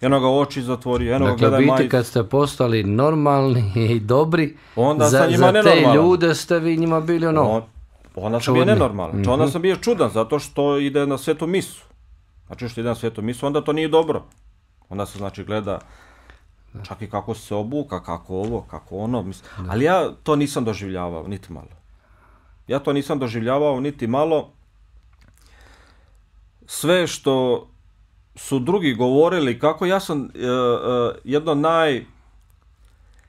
jednoga oči zatvori, jednoga gleda majicu. Dakle, biti kad ste postali normalni i dobri, onda za te ljude ste vi njima bili onda sam bio nenormalan. Onda sam bio čudan, zato što ide na svetu misu. Znači što ide na svetu misu, onda to nije dobro. Onda se znači gleda čak i kako se obuka, kako ovo, kako ono. Ali ja to nisam doživljavao, niti malo. Sve što su drugi govorili, kako ja sam jedno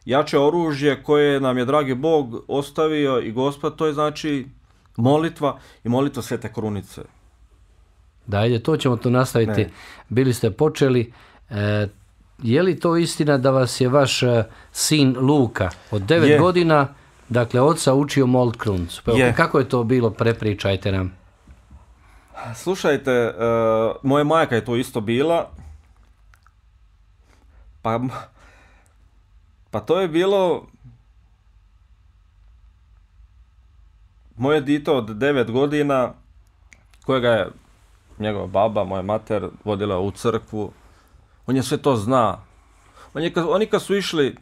najjače oružje koje nam je dragi Bog ostavio i Gospod, to je znači molitva i molitva Svete Krunice. Da, ajde, to ćemo tu nastaviti. Ne. Bili ste počeli. Je li to istina da vas je vaš sin Luka od 9 godina, dakle, oca učio molit krunicu? Kako je to bilo? Prepričajte nam. Slušajte, moja majka je to isto bila. Pa to je bilo moje dito od 9 godina, kojega je njegova baba, moja mater, vodila u crkvu. On je sve to zna. Oni kad su išli,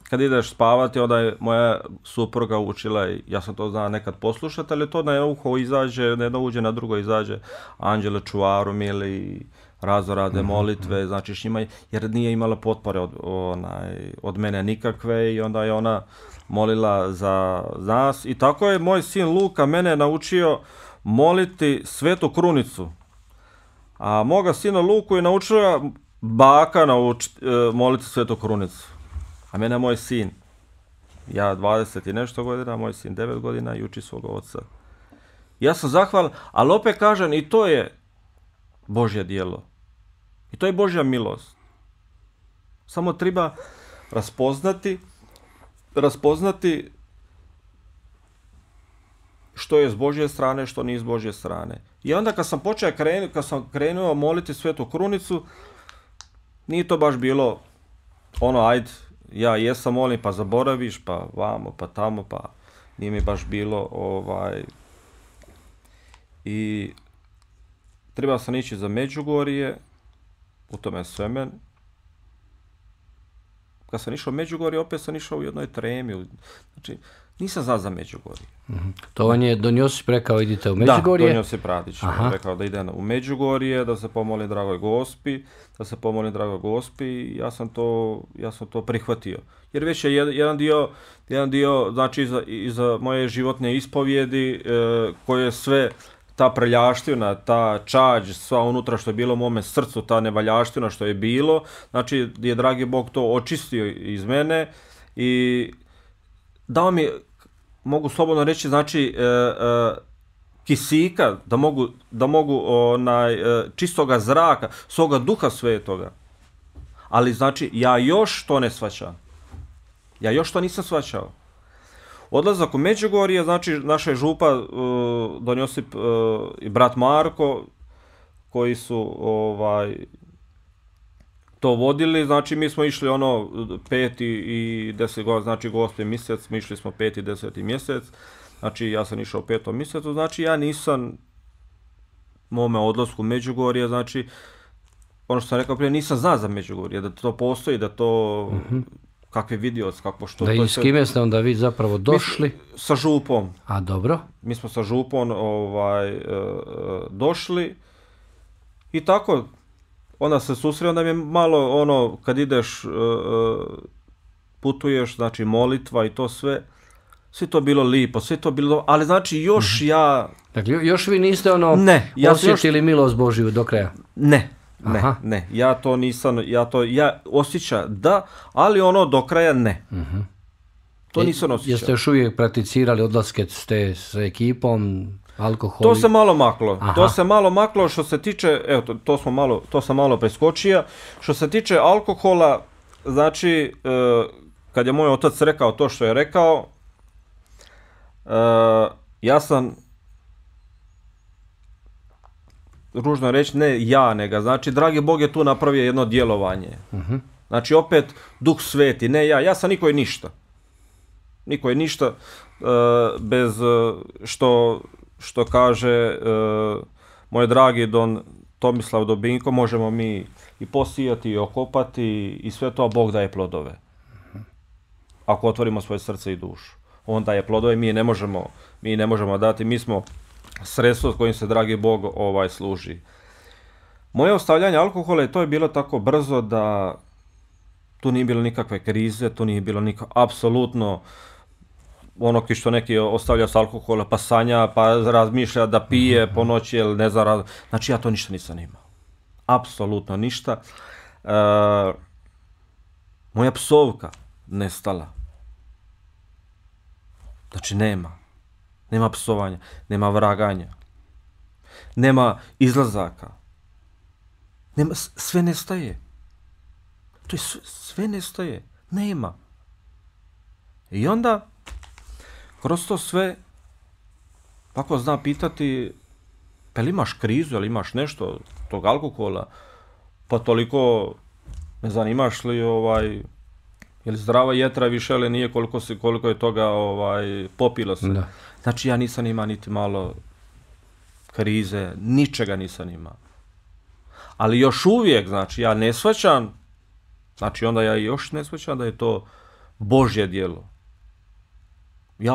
kad ideš spavati, onda je moja supruga učila i ja sam to znao nekad poslušati, ali to na jedno uho izađe, na jedno uđe, na drugo izađe. Anđele čuvaru mili, razne molitve, znači s njima, jer nije imala potpore od mene nikakve i onda je ona molila za nas. I tako je moj sin Luka mene naučio moliti Svetu Krunicu. A moga sina Luku je naučila baka moliti Svetu Krunicu. A mene moj sin, ja 20 i nešto godina, moj sin 9 godina i uči svoga oca. Ja sam zahvalan, ali opet kažem i to je Božje djelo. I to je Božja milost. Samo treba raspoznati što je s Božje strane, što nije s Božje strane. I onda kad sam krenuo moliti Svetu Krunicu, nije to baš bilo ajde, ja jesam molim pa zaboraviš, pa vamo, pa tamo, pa nije mi baš bilo I treba sam ići za Međugorje, u tome Svemen. Kad sam išao u Međugorje, opet sam išao u jednoj tremi. Znači, nisam znao za Međugorje. To on je Don Josip rekao idite u Međugorje? Da, Don Josip Radić rekao da ide u Međugorje, da se pomolim dragoj Gospi, i ja sam to prihvatio. Jer već je jedan dio znači iza moje životne ispovjedi koje sve ta preljaština, ta čađ, sva unutra što je bilo u mome srcu, ta nevaljaština što je bilo, znači je dragi Bog to očistio iz mene i dao mi, mogu slobodno reći, znači kisika, da mogu čistoga zraka, svoga duha svetoga. Ali znači ja još to ne shvaćam. Ja još to nisam shvaćao. Odlazak u Međugorje, znači naša župa Don Josip i brat Marko, koji su to vodili, znači mi smo išli 5. i 10. znači Gospin mjesec, mi išli smo 5. i 10. mjesec, znači ja sam išao u 5. mjesecu, znači ja nisam mome odlasku u Međugorje, znači ono što sam rekao prije, nisam znao za Međugorje, da to postoji, da to kakve vidioc, kako što... Da i s kime ste onda vi zapravo došli? Sa župom. A dobro. Mi smo sa župom došli i tako onda se susreo, onda mi je malo ono, kad ideš, putuješ, znači molitva i to sve to bilo lipo, sve to bilo, ali znači još ja... Dakle, još vi niste osjetili milost Božju do kraja? Ne, ja to nisam, ja osjećam da, ali ono do kraja ne. To nisam osjećao. Jeste još uvijek prakticirali odlaske s ekipom, alkohol? To se malo maklo, što se tiče, evo, to sam malo preskočio, što se tiče alkohola, znači, kad je moj otac rekao to što je rekao, ja sam, ružno reći, ne ja, nego, znači, dragi Bog je tu napravio jedno djelovanje. Znači, opet, Duh Sveti, ne ja sam niko je ništa, bez što kaže moj dragi Don Tomislav Dobinko, možemo mi i posijati i okopati i sve to, a Bog daje plodove. Ako otvorimo svoje srce i dušu. On daje plodove, mi ne možemo dati, mi smo sredstvo s kojim se dragi Bog služi. Moje ostavljanje alkohola, to je bilo tako brzo da tu nije bilo nikakve krize, tu nije bilo apsolutno ono što neki ostavlja s alkohola, pa sanja, pa razmišlja da pije po noći ili ne znam, znači ja to ništa nisam imao. Apsolutno ništa. Moja psovka nestala. Znači nema psovanja, nema vraganja, nema izlazaka, sve nestaje. To je sve nestaje, nema. I onda, kroz to sve, ako zna pitati, pa li imaš krizu, ili imaš nešto tog alkohola, pa toliko, ne znam, imaš li ili zdrava jetra više, ali nije koliko je toga popilo se. Da. Znači ja nisam imao niti malo krize, ničega nisam imao. Ali još uvijek, znači ja ne shvaćam, znači onda ja još ne shvaćam da je to Božje djelo. Ja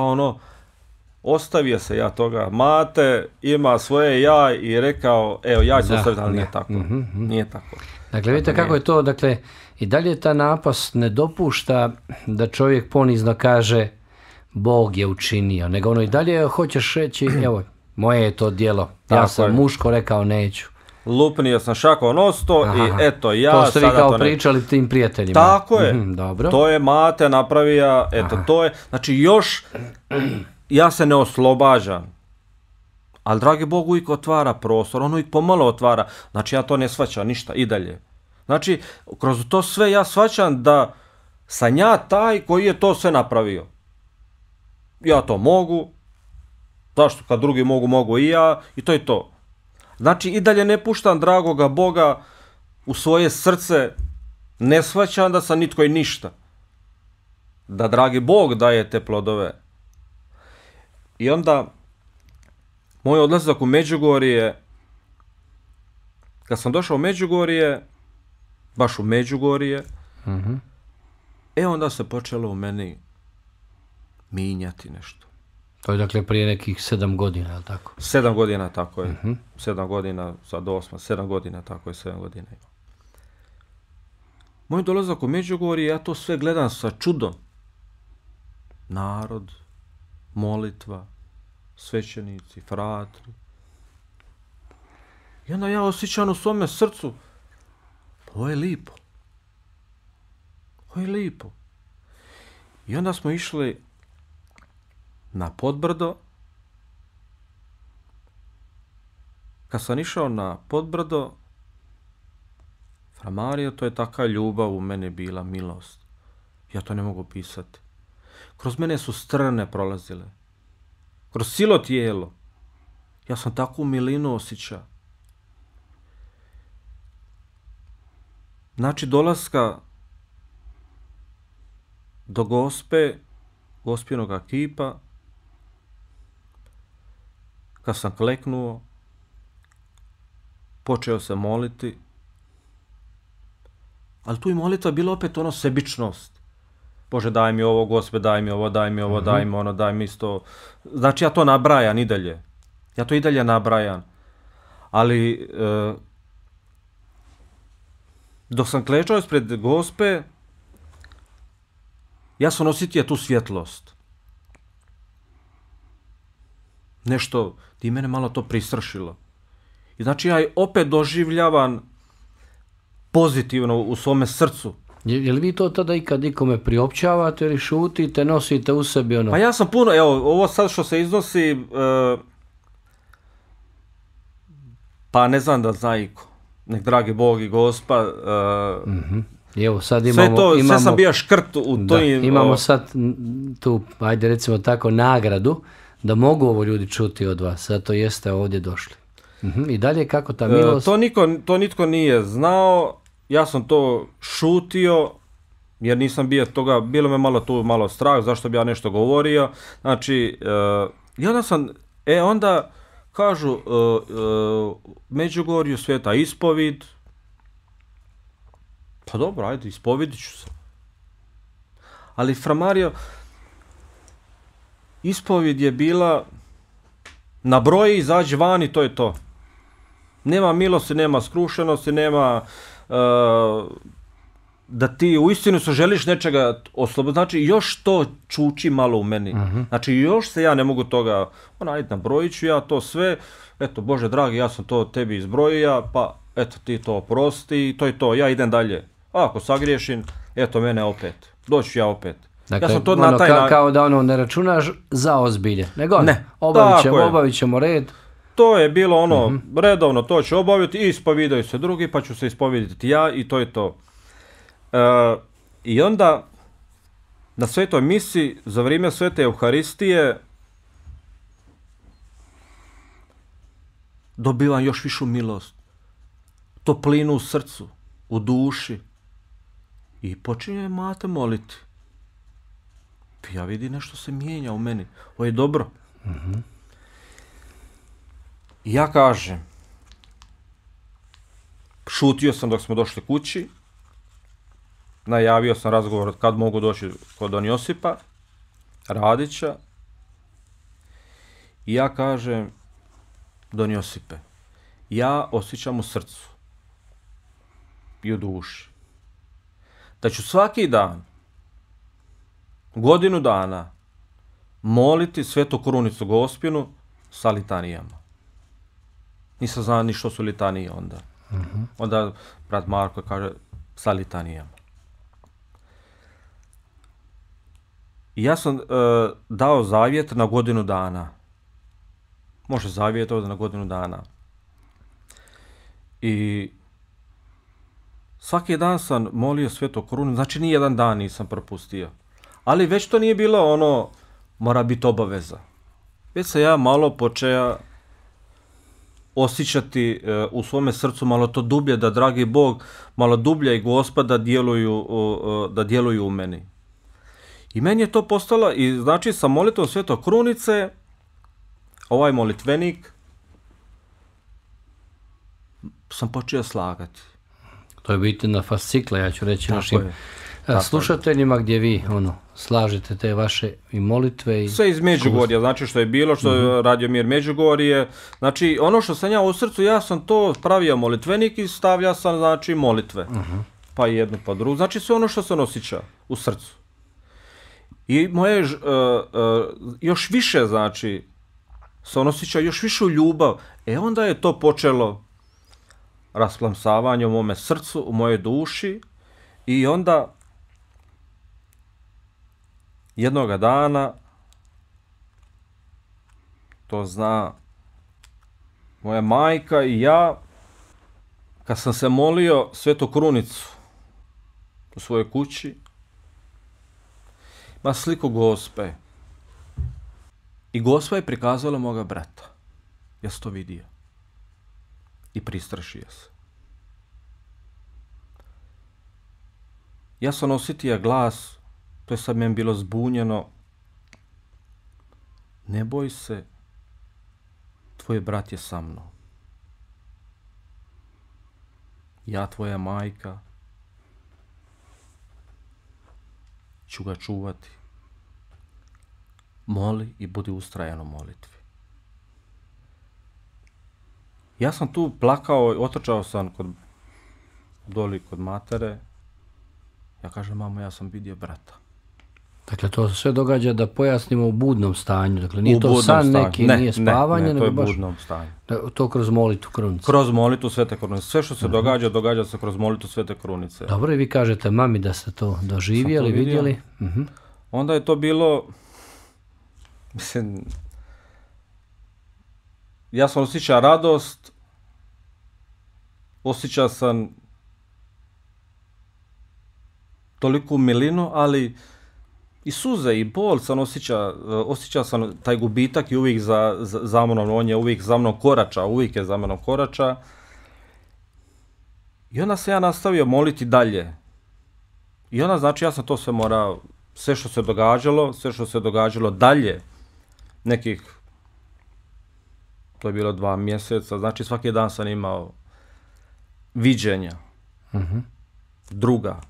ostavio se ja toga, mate ima svoje ja i rekao, evo ja ću ostaviti, ali nije tako. Nije tako. Dakle, vidite kako je to, dakle, i dalje ta napast ne dopušta da čovjek ponizno kaže Bog je učinio, nego ono i dalje hoćeš reći, evo, moje je to djelo, ja sam muško rekao neću. Lupnio sam šako nosto i eto ja sada to ne... To ste vi kao pričali tim prijateljima. Tako je, dobro. To je mate napravija, eto to je, znači još ja se ne oslobađam, ali dragi Bog uvijek otvara prostor, on uvijek pomalo otvara, znači ja to ne shvaćam ništa i dalje. Znači, kroz to sve ja shvaćam da sam ja taj koji je to sve napravio. Ja to mogu, zašto kad drugi mogu i ja, i to je to. Znači, i dalje ne puštam dragoga Boga u svoje srce, ne shvaćam da sam nitko i ništa. Da dragi Bog daje te plodove. I onda, moj odlazak u Međugorje, kad sam došao u Međugorje, baš u Međugorje, onda se počelo u meni minjati nešto. To je dakle prije nekih 7 godina, je li tako? 7 godina, tako je. 7 godina, sad 7 godina, tako je, 7 godina ima. Moj dolazak u Međugorje, ja to sve gledam sa čudom. Narod, molitva, svećenici, fratri. I onda ja osjećam u svome srcu, ovo je lipo. Ovo je lipo. I onda smo išli na Podbrdo. Kad sam išao na Podbrdo, Fra Mario, to je taka ljubav u mene bila, milost. Ja to ne mogu pisati. Kroz mene su strne prolazile. Kroz cijelo tijelo. Ja sam takvu milinu osjećao. Znači, dolaska do Gospinoga kipa, kad sam kleknuo, počeo se moliti, ali tu i molitva bila opet sebičnost. Bože, daj mi ovo, Gospod, daj mi ovo, daj mi ovo, daj mi ono, daj mi isto. Znači, ja to nabrajam i dalje. Ja to i dalje nabrajam. Ali, dok sam klečao ispred Gospe, ja sam osjetio tu svjetlost. Nešto, ti mene malo to pristrašilo. I znači ja opet doživljavam pozitivno u svome srcu. Je li vi to tada ikad nikome priopćavate ili šutite, nosite u sebi ono? Pa ja sam puno, evo, ovo sad što se iznosi, pa ne znam da zna iko. Nek dragi Bog i Gospa. Evo, sad imamo, sve sam bio škrt u toj... Imamo sad tu, ajde recimo tako, nagradu da mogu ovo ljudi čuti od vas. Zato jeste ovdje došli. I dalje kako ta milost? To nitko nije znao. Ja sam to šutio, jer nisam bio toga, bilo me malo strah, zašto bi ja nešto govorio. Znači, i onda sam, onda kažu, Međugorju sveta ispovid. Pa dobro, ajde, ispovidit ću se. Ali, fra Mario, ispovid je bila, na broji izađi van i to je to. Nema milosti, nema skrušenosti, nema... da ti uistinu se želiš nečega osloboditi, znači još to čuči malo u meni. Znači još se ja ne mogu toga, ajde nabrojit ću ja to sve, eto Bože dragi, ja sam to tebi izbrojio, pa eto ti to oprosti, to je to, ja idem dalje. A ako sagriješim, eto mene opet, doću ja opet. Dakle, ja sam to na taj kao da ne računaš za ozbilje, nego ne, obavit ćemo red. To je bilo redovno, to ću obaviti i ispovidaju se drugi, pa ću se ispoviditi ja i to je to. I onda, na svetoj misi, za vrijeme svete Euharistije, dobivam još višu milost, toplinu u srcu, u duši i počinje mate moliti. Ja vidim nešto se mijenja u meni, ovo je dobro. I ja kažem, šutio sam dok smo došli kući, najavio sam razgovor kad mogu doći kod Don Josipa, Radića, i ja kažem, Don Josipe, ja osjećam u srcu i u duši da ću svaki dan, godinu dana, moliti Svetu Krunicu Gospinu sa litanijama. Nisam znao ni što su litanije onda. Onda brat Marko kaže sa litanijama. I ja sam dao zavjet na godinu dana. Može zavjet ovdje na godinu dana. I svaki dan sam molio Svetu Krunicu, znači ni jedan dan nisam propustio. Ali već to nije bilo mora biti obaveza. Već sam ja malo počeo osjećati u svome srcu malo to dublje, da dragi Bog, malo dublje i Gospa da djeluju u meni. I meni je to postalo, i znači sa molitvom Svete Krunice, ovaj molitvenik, sam počeo slagati. To je biti na fascikla, ja ću reći našim slušateljima, gdje vi slažete te vaše i molitve. I sve iz Međugorja, znači što je bilo, što je Radio Mir Međugorje. Znači ono što sam ja u srcu, ja sam to pravio molitvenik i stavljao sam znači molitve. Pa jednu pa drugu. Znači sve ono što sam osjećao u srcu. I moje još više znači sam osjećao još višu ljubav. Onda je to počelo rasplamsavanje u mome srcu, u mojoj duši, i onda jednoga dana, to zna moja majka i ja, kad sam se molio Svetu Krunicu u svojoj kući, ima sliku Gospe. I Gospa je prikazala moga brata. Ja sam to vidio. I pristrašio se. Ja sam osjetio glas, to je sad meni bilo zbunjeno. Ne boj se, tvoj brat je sa mnom. Ja, tvoja majka, ću ga čuvati. Moli i budi ustrajan u molitvi. Ja sam tu plakao, otrčao sam kod doli kod matere. Ja kažem, mamo, ja sam vidio brata. Dakle, to se sve događa da pojasnimo u budnom stanju. Dakle, nije to san neki, nije spavanje, nego baš... to je budnom stanju. To kroz molitvu krunice. Kroz molitvu Svete Krunice. Sve što se događa, događa se kroz molitvu Svete Krunice. Dobro, i vi kažete mami da ste to doživjeli, vidjeli. Onda je to bilo... Mislim... Ja sam osjećao radost, osjećao sam toliku milinu, ali i suze i bol sam osjećao sam taj gubitak i uvijek za mnom, on je uvijek za mnom korača, uvijek je za mnom korača. I onda se ja nastavio moliti dalje. I onda, znači, ja sam to sve morao, sve što se događalo dalje, nekih, to je bilo 2 mjeseca, znači svaki dan sam imao viđenja, druga.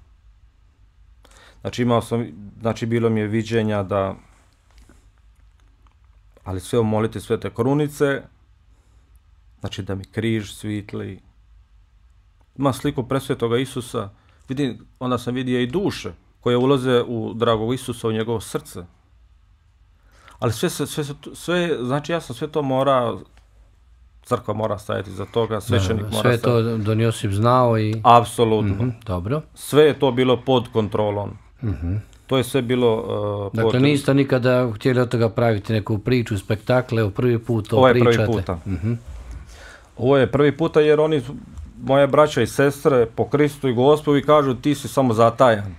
Znači bilo mi je viđenja da, ali sve u molitvi Svete Krunice, znači da mi križ svitli. Ima sliku presvetoga Isusa, onda sam vidio i duše koje ulaze u dragog Isusa, u njegovo srce. Ali sve, znači ja sam sve to morao, crkva mora stajati za toga, svećenik mora stajati. Sve je to Don Josip znao i... Apsolutno. Dobro. Sve je to bilo pod kontrolom. To je sve bilo... Dakle, niste nikada htjeli od toga praviti neku priču, spektakle, u prvi put to pričate. Ovo je prvi puta. Ovo je prvi puta jer oni, moje braća i sestre, po Kristu i Gospodu, kažu ti si samo zatajan.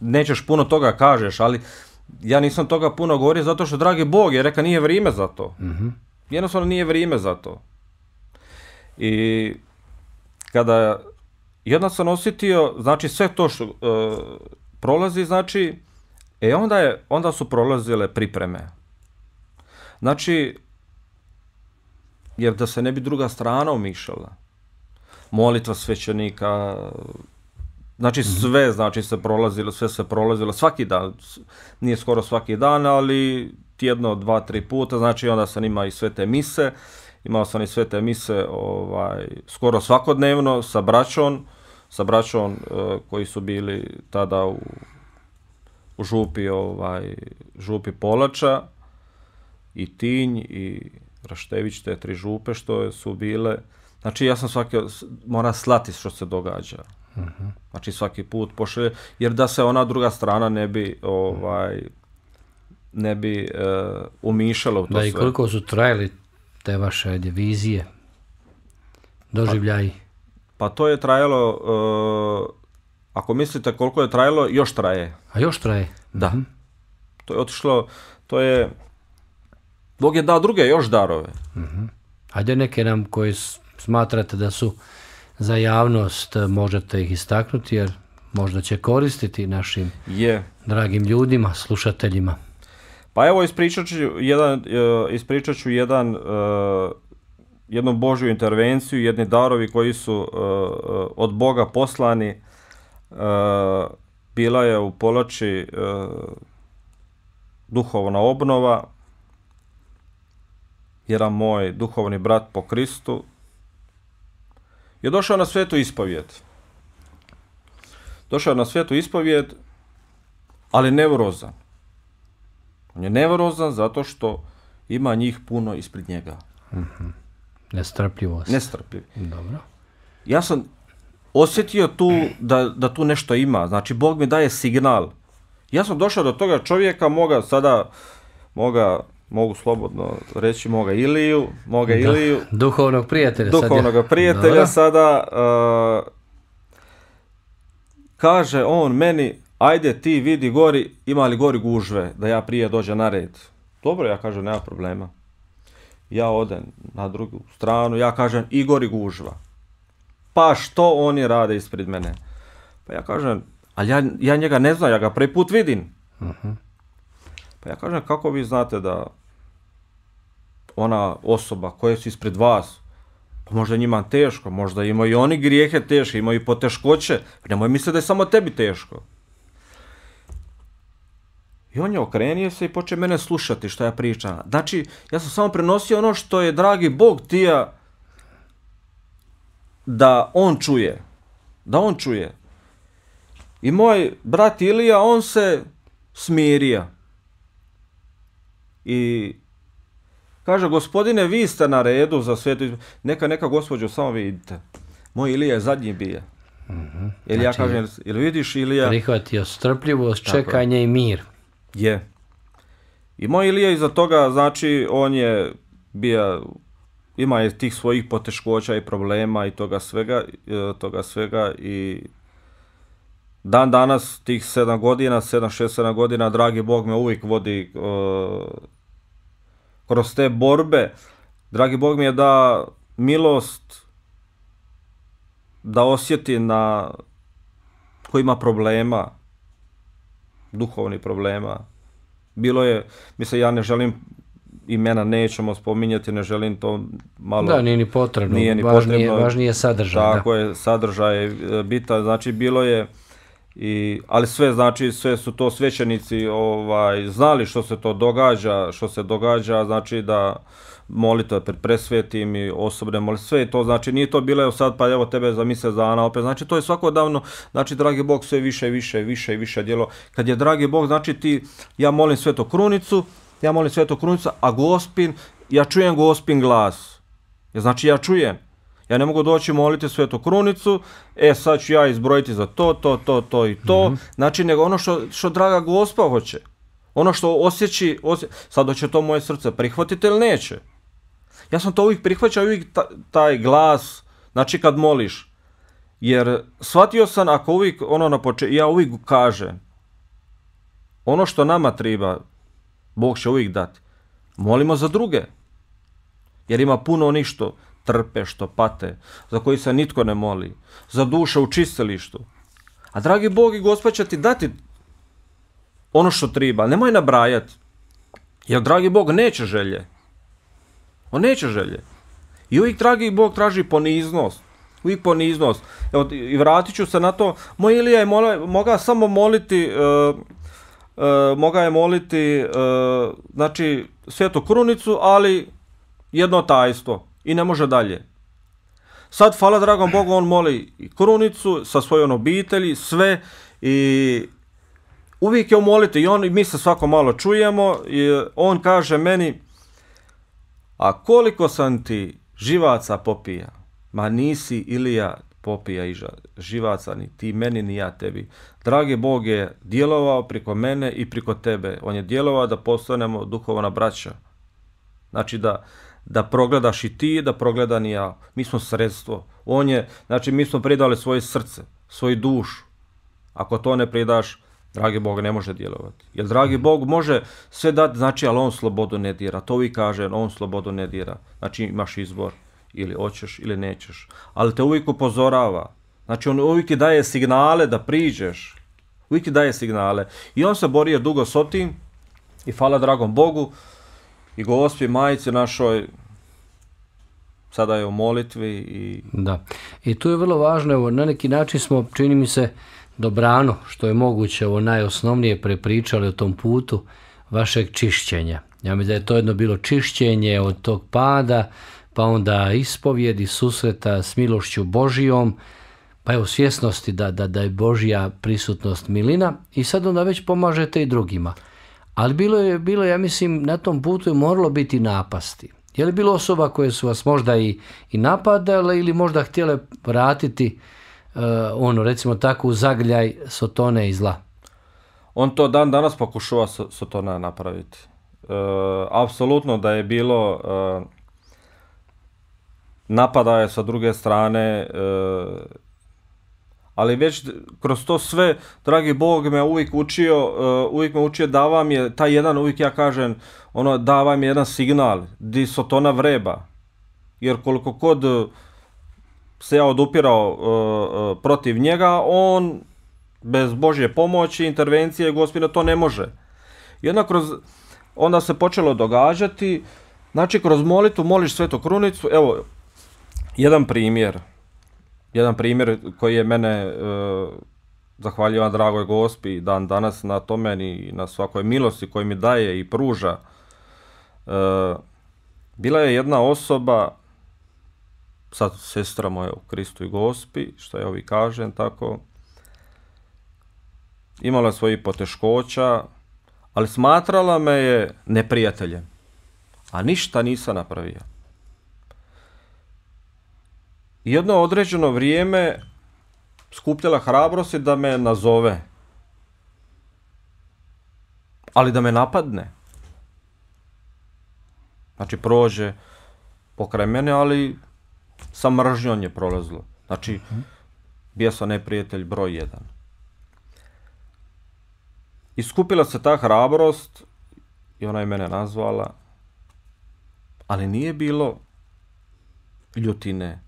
Nećeš puno toga kažeš, ali ja nisam toga puno govorio zato što, dragi Bog, je reka nije vrijeme za to. Jednostavno nije vrijeme za to. I kada jedna sam osjetio, znači sve to što prolazi, znači, onda su prolazile pripreme. Znači, jer da se ne bi druga strana umišala. Molitva svećenika, znači sve, znači sve se prolazilo, svaki dan, nije skoro svaki dan, ali tjedno 2-3 puta, znači onda sam imao i svete mise, skoro svakodnevno sa braćom koji su bili tada u župi Polača i Tinj i Raštević, te 3 župe što su bile. Znači ja sam mora slati što se događa. Znači svaki put pošalje, jer da se ona druga strana ne bi umišala u to sve. Da, i koliko su trajali te vaše vizije, doživljaji? Pa to je trajalo, ako mislite koliko je trajalo, još traje. A još traje? Da. To je otišlo, Bog je dao druge još darove. Hajde neke nam koji smatrate da su za javnost, možete ih istaknuti, jer možda će koristiti našim dragim ljudima, slušateljima. Pa evo, ispričat ću jednu Božju intervenciju, jedni darovi koji su od Boga poslani. Bila je u Polači duhovna obnova. Jedan moj duhovni brat po Kristu je došao na svetu ispovijed. Ali nevrozan. On je nevrozan zato što ima njih puno ispred njega. Nestrpljivost. Nestrpljiv. Dobro. Ja sam osjetio tu da tu nešto ima. Znači, Bog mi daje signal. Ja sam došao do toga čovjeka, mogu slobodno reći moga Iliju. Duhovnog prijatelja. Sada kaže on meni, ajde ti vidi gori, ima li gori gužve, da ja prije dođem na red. Dobro, ja kažem, nema problema. Ja odem na drugu stranu, ja kažem, i gori gužva. Pa što oni rade ispred mene? Pa ja kažem, ali ja njega ne znam, ja ga prvi put vidim. Pa ja kažem, kako vi znate da ona osoba koja su ispred vas, pa možda njima teško, možda imaju i oni grijehe teške, imaju i poteškoće, nemoj misliti da je samo tebi teško. I on je okrenio se i počeo mene slušati što ja pričam. Znači, ja sam samo prenosio ono što je dragi Bog tija da on čuje. I moj brat Ilija, on se smirija. I kaže, gospodine, vi ste na redu za svetu. Neka gospođo, samo vidite. Moj Ilija je zadnji bija. Jer ja kažem, jel vidiš Ilija? Prihvatio strpljivost, čekanje i mir. Je. I moj Ilija iza toga, znači, on je bija, ima je tih svojih poteškoća i problema i toga svega i dan danas, tih 6-7 godina, dragi Bog me uvijek vodi kroz te borbe. Dragi Bog mi je da milost da osjeti na ko ima problema, duhovnih problema. Bilo je, mislim, ja ne želim, imena nećemo spominjati, ne želim to malo... Da, nije ni potrebno, važnije sadržaj. Tako je, sadržaj je bitan, znači bilo je, ali sve, znači, sve su to svećenici znali što se događa, znači da molitve pred presvetim i osobne molitve, sve je to, znači nije to bilo sad pa evo tebe za mjesec dana opet, znači to je svakodavno, znači dragi Bog sve više djelo. Kad je dragi Bog, znači ja molim Svetu Krunicu, a ja čujem Gospin glas. Znači ja čujem. Ja ne mogu doći moliti Svetu Krunicu, sad ću ja izbrojiti za to i to, znači nego ono što draga Gospa hoće. Ono što osjeći, sad hoće to moje srce prihvatiti ili neće. Ja sam to uvijek prihvaćao, uvijek taj glas, znači kad moliš. Jer shvatio sam, ako uvijek ja uvijek kažem, ono što nama treba, Bog će uvijek dati. Molimo za druge. Jer ima puno onih što trpe, što pate, za koji se nitko ne moli, za duše u čistilištu. A dragi Bog i Gospod će ti dati ono što treba, nemoj nabrajati. Jer dragi Bog neće želje. On neće želje. I uvijek dragi Bog traži poniznost. Uvijek poniznost. Evo, i vratit ću se na to. Moj Ilija je mogao samo moliti, znači, Svetu Krunicu, ali jedno tajstvo. I ne može dalje. Sad, hvala dragom Bogu, on moli i Krunicu sa svojom obitelji, sve, i uvijek je u moliti i mi se svako malo čujemo i on kaže meni, a koliko sam ti živaca popija, ma nisi Ilija popija i živaca ni ti meni ni ja tebi. Dragi Bog je djelovao preko mene i preko tebe. On je djelovao da postanemo duhovna braća. Znači da progledaš i ti, da progledam i ja. Mi smo sredstvo. Znači mi smo predali svoje srce, svoju dušu. Ako to ne predaš, dragi Bog ne može djelovati. Jer dragi Bog može sve dati, znači, ali on slobodu ne dira. To uvijek kaže, on slobodu ne dira. Znači imaš izbor, ili hoćeš ili nećeš. Ali te uvijek upozorava. Znači on uvijek ti daje signale da priđeš. Uvijek ti daje signale. I on se borio dugo s tim i hvala dragom Bogu i Gospi Majici našoj, sada je u molitvi. Da. I tu je vrlo važno, evo, na neki način smo, čini mi se, dobrano, što je moguće, ovo najosnovnije prepričali o tom putu vašeg čišćenja. Ja mislim da je to jedno bilo čišćenje od tog pada, pa onda ispovjedi, susreta s milošću Božijom, pa evo svjesnosti da je Božja prisutnost milina i sad onda već pomažete i drugima. Ali bilo je, ja mislim, na tom putu je moralo biti napasti. Je li bilo osoba koje su vas možda i napadale ili možda htjele vratiti recimo tako u zagrljaj sotone i zla? On to dan danas pokušava sotona napraviti. Apsolutno da je bilo napadaje sa druge strane, ali već kroz to sve, dragi Bog me uvijek učio da vam je taj jedan, uvijek ja kažem, da vam je jedan signal di sotona vreba. Jer koliko kod se ja odupirao protiv njega, on bez Božje pomoći, intervencije Gospodina to ne može. I onda se počelo događati, znači kroz molitvu moliš Svetu Krunicu, evo, jedan primjer koji je mene, zahvaljivan dragoj Gospi dan danas na tome i na svakoj milosti koju mi daje i pruža. Bila je jedna osoba, sad sestra moja u Kristu i Gospi, što ja ovi kažem, tako, imala svojih poteškoća, ali smatrala me je neprijateljem, a ništa nisam napravio. I jedno određeno vrijeme skupljala hrabrosti da me nazove, ali da me napadne. Znači, prođe pokraj mene, ali sa mržnjom je prolazilo. Znači, bio sam neprijatelj broj 1. I skupila se ta hrabrost i ona je mene nazvala, ali nije bilo ljutine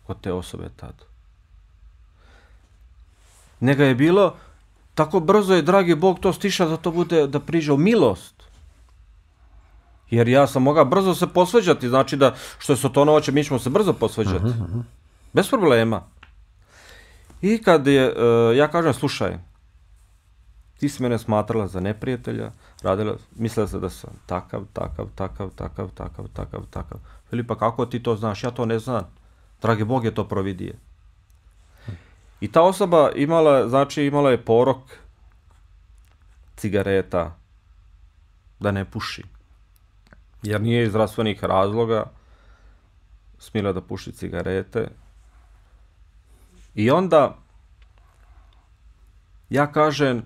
kod te osobe tad. Nego je bilo, tako brzo je, dragi Bog, to stiša da to bude, da priđe u milost. Jer ja sam mogao brzo se posveđati, znači da, što je Sotonovače, mi ćemo se brzo posveđati. Bez problema. I kad je, ja kažem, slušaj, ti si mene smatrala za neprijatelja, mislila se da sam takav. Filipa, kako ti to znaš? Ja to ne znam. Dragi Bog je to providije. I ta osoba imala je porok cigareta da ne puši. Jer nije iz zdravstvenih razloga smjela da puši cigarete. I onda ja kažem,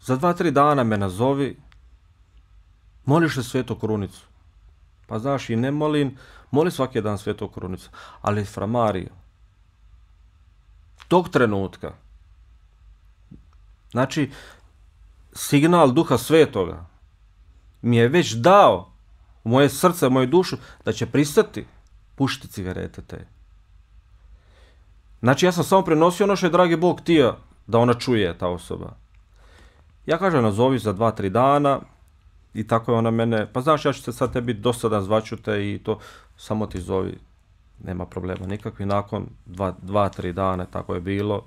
za 2-3 dana me nazovi, moliš li Svetu Krunicu? Pa znaš, i ne moli svaki dan Svetu Krunicu, ali fra Mario, tog trenutka, znači, signal Duha Svetoga mi je već dao u moje srce, u moju dušu, da će pristati pušiti cigarete te. Znači, ja sam samo prenosio ono što je dragi Bog htio da ona čuje, ta osoba. Ja kažem, nazovi za 2-3 dana i tako je ona mene, pa znaš, ja ću se sad tebi dosadan, zvaću te i to, samo ti zovi, nema problema nikakvi. Nakon 2-3 dana, tako je bilo.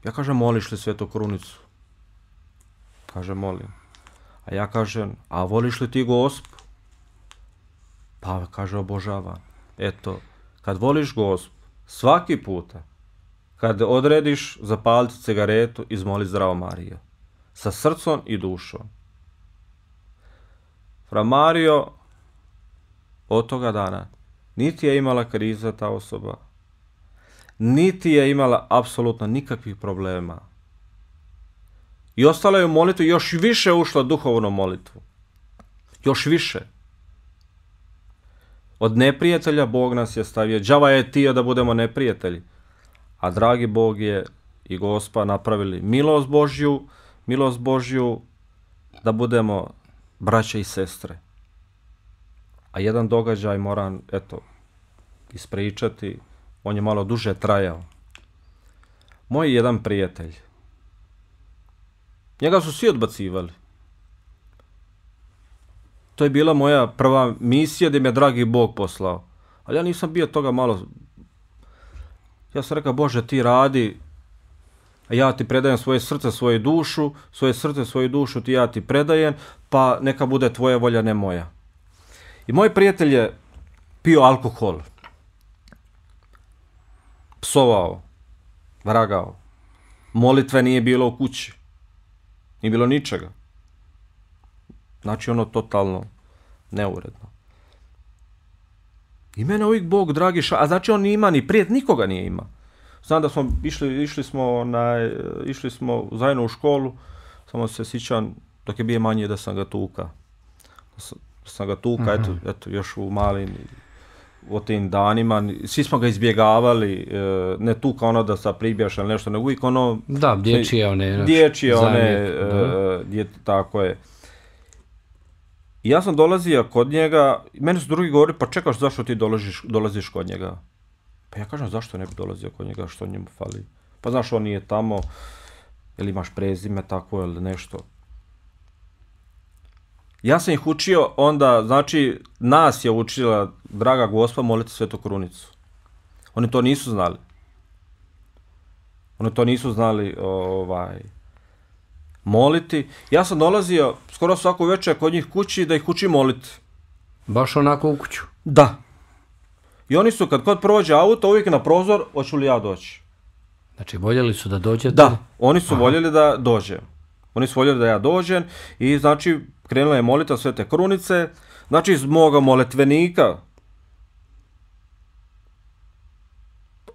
Ja kažem, moliš li Svetu Krunicu? Kaže, molim. A ja kažem, a voliš li ti Gospu? Pa kaže, obožavam. Eto, kad voliš Gospu, svaki puta, kad odrediš zapaliti cigaretu, izmoli Zdravo Marijo. Sa srcom i dušom. Fra Mario, od toga dana, niti je imala kriza ta osoba, niti je imala apsolutno nikakvih problema. I ostala je u molitvu, još više ušla duhovnu molitvu. Još više. Od neprijatelja Bog nas je stavio. Đava je tio da budemo neprijatelji. A dragi Bog je i Gospa napravili milost Božju da budemo braće i sestre. A jedan događaj moram, ispričati, on je malo duže trajao. Moj jedan prijatelj, njega su svi odbacivali. To je bila moja prva misija gdje me je dragi Bog poslao. Ali ja nisam bio toga malo. Ja sam rekao, Bože, ti radi, a ja ti predajem svoje srce, svoju dušu, ja ti predajem, pa neka bude tvoja volja, ne moja. I moj prijatelj je pio alkohol, psovao, vragao, molitve nije bilo u kući, nije bilo ničega. Znači ono totalno neuredno. I mene uvijek Bog dragi a znači on nije ima ni prijatelj, nikoga nije ima. Znam da smo išli smo zajedno u školu, samo se sjećam dok je bio manje da sam ga tuka. Eto, još u malim, u tim danima, svi smo ga izbjegavali, ne tuka ono da sa pribjaš ili nešto, nego uvijek ono... Da, dječije tako je. I ja sam dolazio kod njega, meni su drugi govorili, pa čekaš zašto ti dolaziš kod njega? Pa ja kažem, zašto ne bi dolazio kod njega, što njemu fali? Pa znaš, on nije tamo, ili imaš prezime tako ili nešto. Ja sam ih učio onda, znači, nas je učila draga Gospa moliti Svetu Krunicu. Oni to nisu znali. moliti. Ja sam dolazio skoro svaku večer kod njih kući da ih učim moliti. Baš onako u kuću? Da. I oni su kad kod prođe auto uvijek na prozor, hoću li ja doći. Znači voljeli su da dođete? Da, oni su voljeli da dođem. Oni su voljeli da ja dođem i znači krenula je molita Svete Krunice. Znači iz moga molitvenika.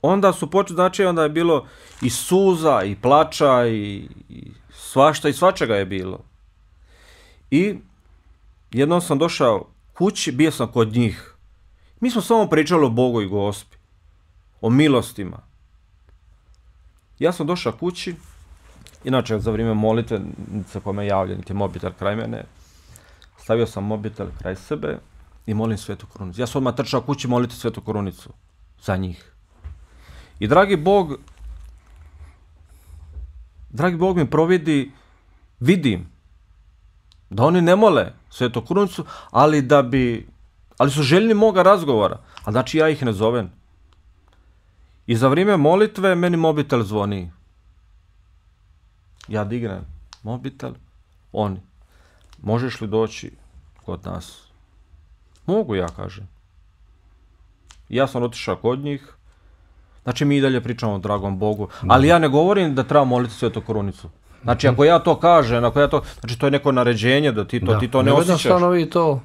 Onda su počeli, znači onda je bilo i suza, i plača, i svašta, i svačega je bilo. I jednom sam došao kući, bio sam kod njih. Mi smo samo pričali o Bogu i Gospi, o milostima. Ja sam došao kući, inače za vrijeme molitve, sa kome javljam, niti mobitel kraj mene, stavio sam mobitel kraj sebe i molim Svetu Krunicu. Ja sam odmah trčao kući moliti Svetu Krunicu za njih. I dragi Bog mi providi, vidim da oni ne mole Svetu Krunicu, ali su željni moga razgovora, a znači ja ih ne zovem. I za vrijeme molitve meni mobitel zvoni. Ja dignem mobitel, oni. Možeš li doći kod nas? Mogu, ja kažem. Ja sam otišao kod njih. Znači mi i dalje pričamo o dragom Bogu, ali ja ne govorim da treba moliti Svetu Krunicu. Znači ako ja to kažem, znači to je neko naređenje da ti to ne osjećaš. Jednostavno vi to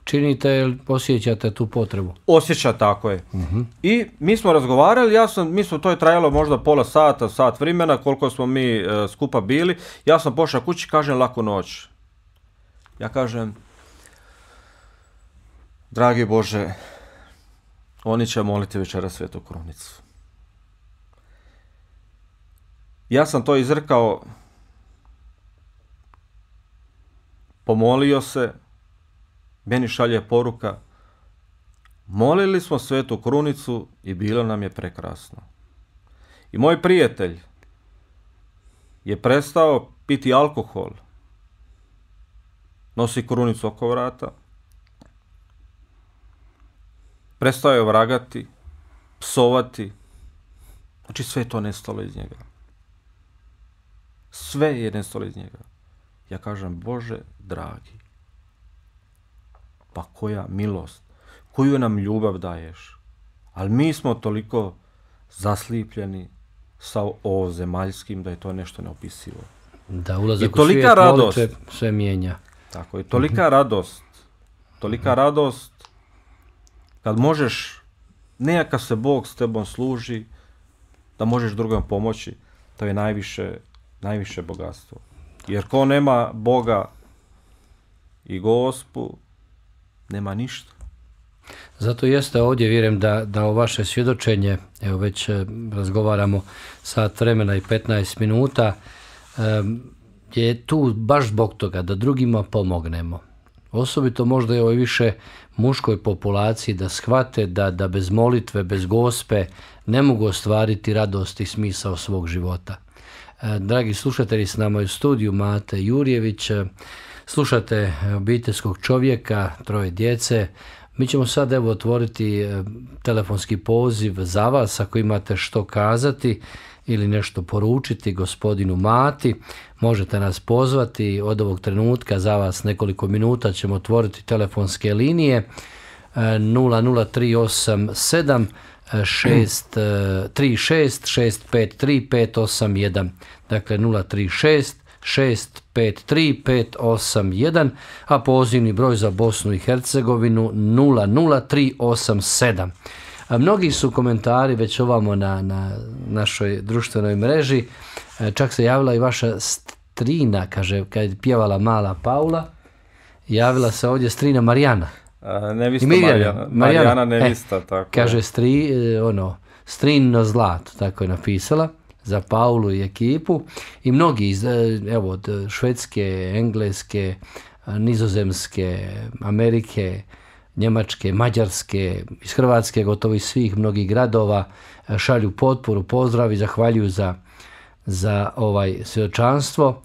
činite ili osjećate tu potrebu? Osjeća, tako je. I mi smo razgovarali, to je trajalo možda pola sata, sat vremena, koliko smo mi skupa bili. Ja sam pošao kući, kažem laku noć. Ja kažem, dragi Bože, oni će moliti večera Svetu Krunicu. Ja sam to izrekao, pomolio se, meni šalje poruka, molili smo Svetu Krunicu i bilo nam je prekrasno. I moj prijatelj je prestao piti alkohol, nosi krunicu oko vrata, prestao je vragati, psovati, znači sve je to nestalo iz njega. Sve je nestalo iz njega. Ja kažem, Bože dragi, pa koja milost, koju nam ljubav daješ. Ali mi smo toliko zaslipljeni sa ovozemaljskim da je to nešto neopisivo. Da, ulazak u svijet molitve sve mijenja. Tako je, tolika radost kad možeš, nejaka se Bog s tebom služi, da možeš drugom pomoći, to je najviše bogatstvo. Jer ko nema Boga i Gospu, nema ništa. Zato jeste ovdje, vjerujem da o vaše svjedočenje, evo već razgovaramo sat vremena i 15 minuta, je tu baš zbog toga da drugima pomognemo. Osobito možda je ovo više muškoj populaciji da shvate da bez molitve, bez Gospe ne mogu ostvariti radost i smisao svog života. Dragi slušatelji, s nama je u studiju Mate Jurjević, slušate obiteljskog čovjeka, 3 djece. Mi ćemo sad evo otvoriti telefonski poziv za vas ako imate što kazati ili nešto poručiti gospodinu Mati. Možete nas pozvati od ovog trenutka, za vas nekoliko minuta ćemo otvoriti telefonske linije 00387 636 653 581, dakle 036 653 581, a pozivni broj za Bosnu i Hercegovinu 00387. Mnogi su komentari već ovamo na našoj društvenoj mreži, čak se javila i vaša strina, kaže, kad je pjevala Mala Paula, javila se ovdje strina Marijana. Nevista Marijana nevista, tako. Kaže strino zlato, tako je napisala, za Paulu i ekipu. I mnogi, evo, od Švedske, Engleske, Nizozemske, Amerike, Njemačke, Mađarske, iz Hrvatske, gotovo iz svih mnogih gradova šalju potporu, pozdrav i zahvaljuju za ovaj svjedočanstvo.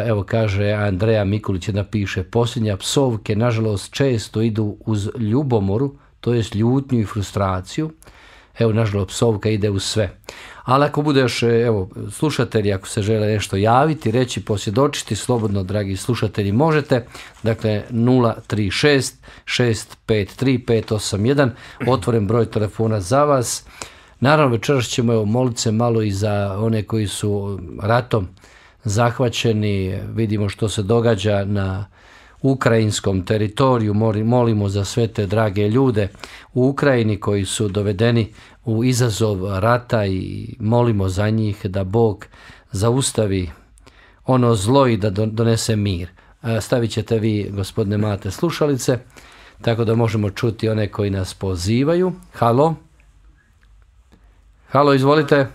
Evo kaže Andreja Mikulić, napiše, posljednja psovke nažalost često idu uz ljubomoru, to jest ljutnju i frustraciju. evo nažalost psovka ide u sve. Ali ako bude još, evo, slušatelji, ako se žele nešto javiti, reći, posvjedočiti, slobodno, dragi slušatelji, možete. Dakle, 036 653 581, otvoren broj telefona za vas. Naravno, večeras ćemo moliti se malo i za one koji su ratom zahvaćeni. Vidimo što se događa na ukrajinskom teritoriju, molimo za sve te drage ljude u Ukrajini koji su dovedeni u izazov rata i molimo za njih da Bog zaustavi ono zlo i da donese mir. Stavit ćete vi, gospodine Mate, slušalice, tako da možemo čuti one koji nas pozivaju. Halo? Halo, izvolite.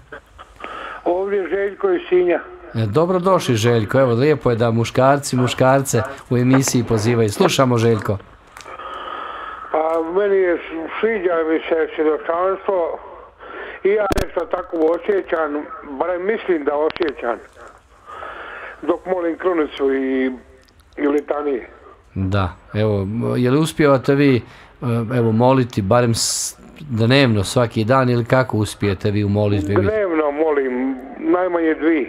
Ovdje Željko iz Sinja. Dobrodošli, Željko. Evo, lijepo je da muškarce u emisiji pozivaju. Slušamo, Željko. Pa meni je, sviđa mi se svjedočanstvo i ja nešto tako osjećam, barem mislim da osjećam, dok molim krunicu i litanije. Da, evo, je li uspijevate vi evo, moliti barem dnevno svaki dan ili kako uspijete vi u molitvi? Dnevno molim, najmanje 2.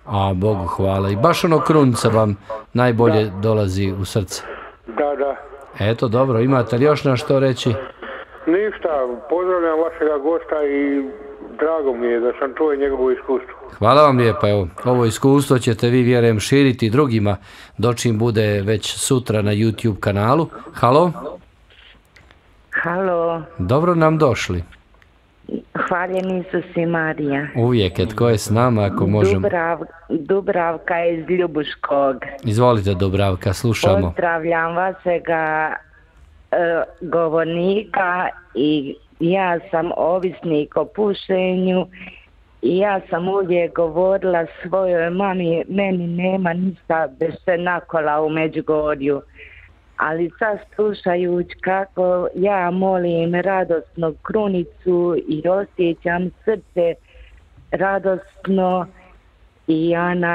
A, Bogu hvala. I baš ono krunica vam najbolje dolazi u srce. Da. Eto, dobro, imate li još na što reći? Ništa, pozdravljam vašega gosta i drago mi je da sam čuo njegovo iskustvo. Hvala vam lijepa, evo, ovo iskustvo ćete vi, vjerujem, širiti drugima, dočim bude već sutra na YouTube kanalu. Halo? Halo. Dobro nam došli. Hvaljen Isus i Marija. Uvijek, tko je s nama, ako možemo? Dubravka iz Ljubuškog. Izvolite, Dubravka, slušamo. Pozdravljam vašega govornika i ja sam ovisnik o pušenju i ja sam uvijek govorila svojoj mami, meni nema ništa bez nakola u Međugorju. Ali sad slušajući kako ja molim radosno krunicu i osjećam srce radosno i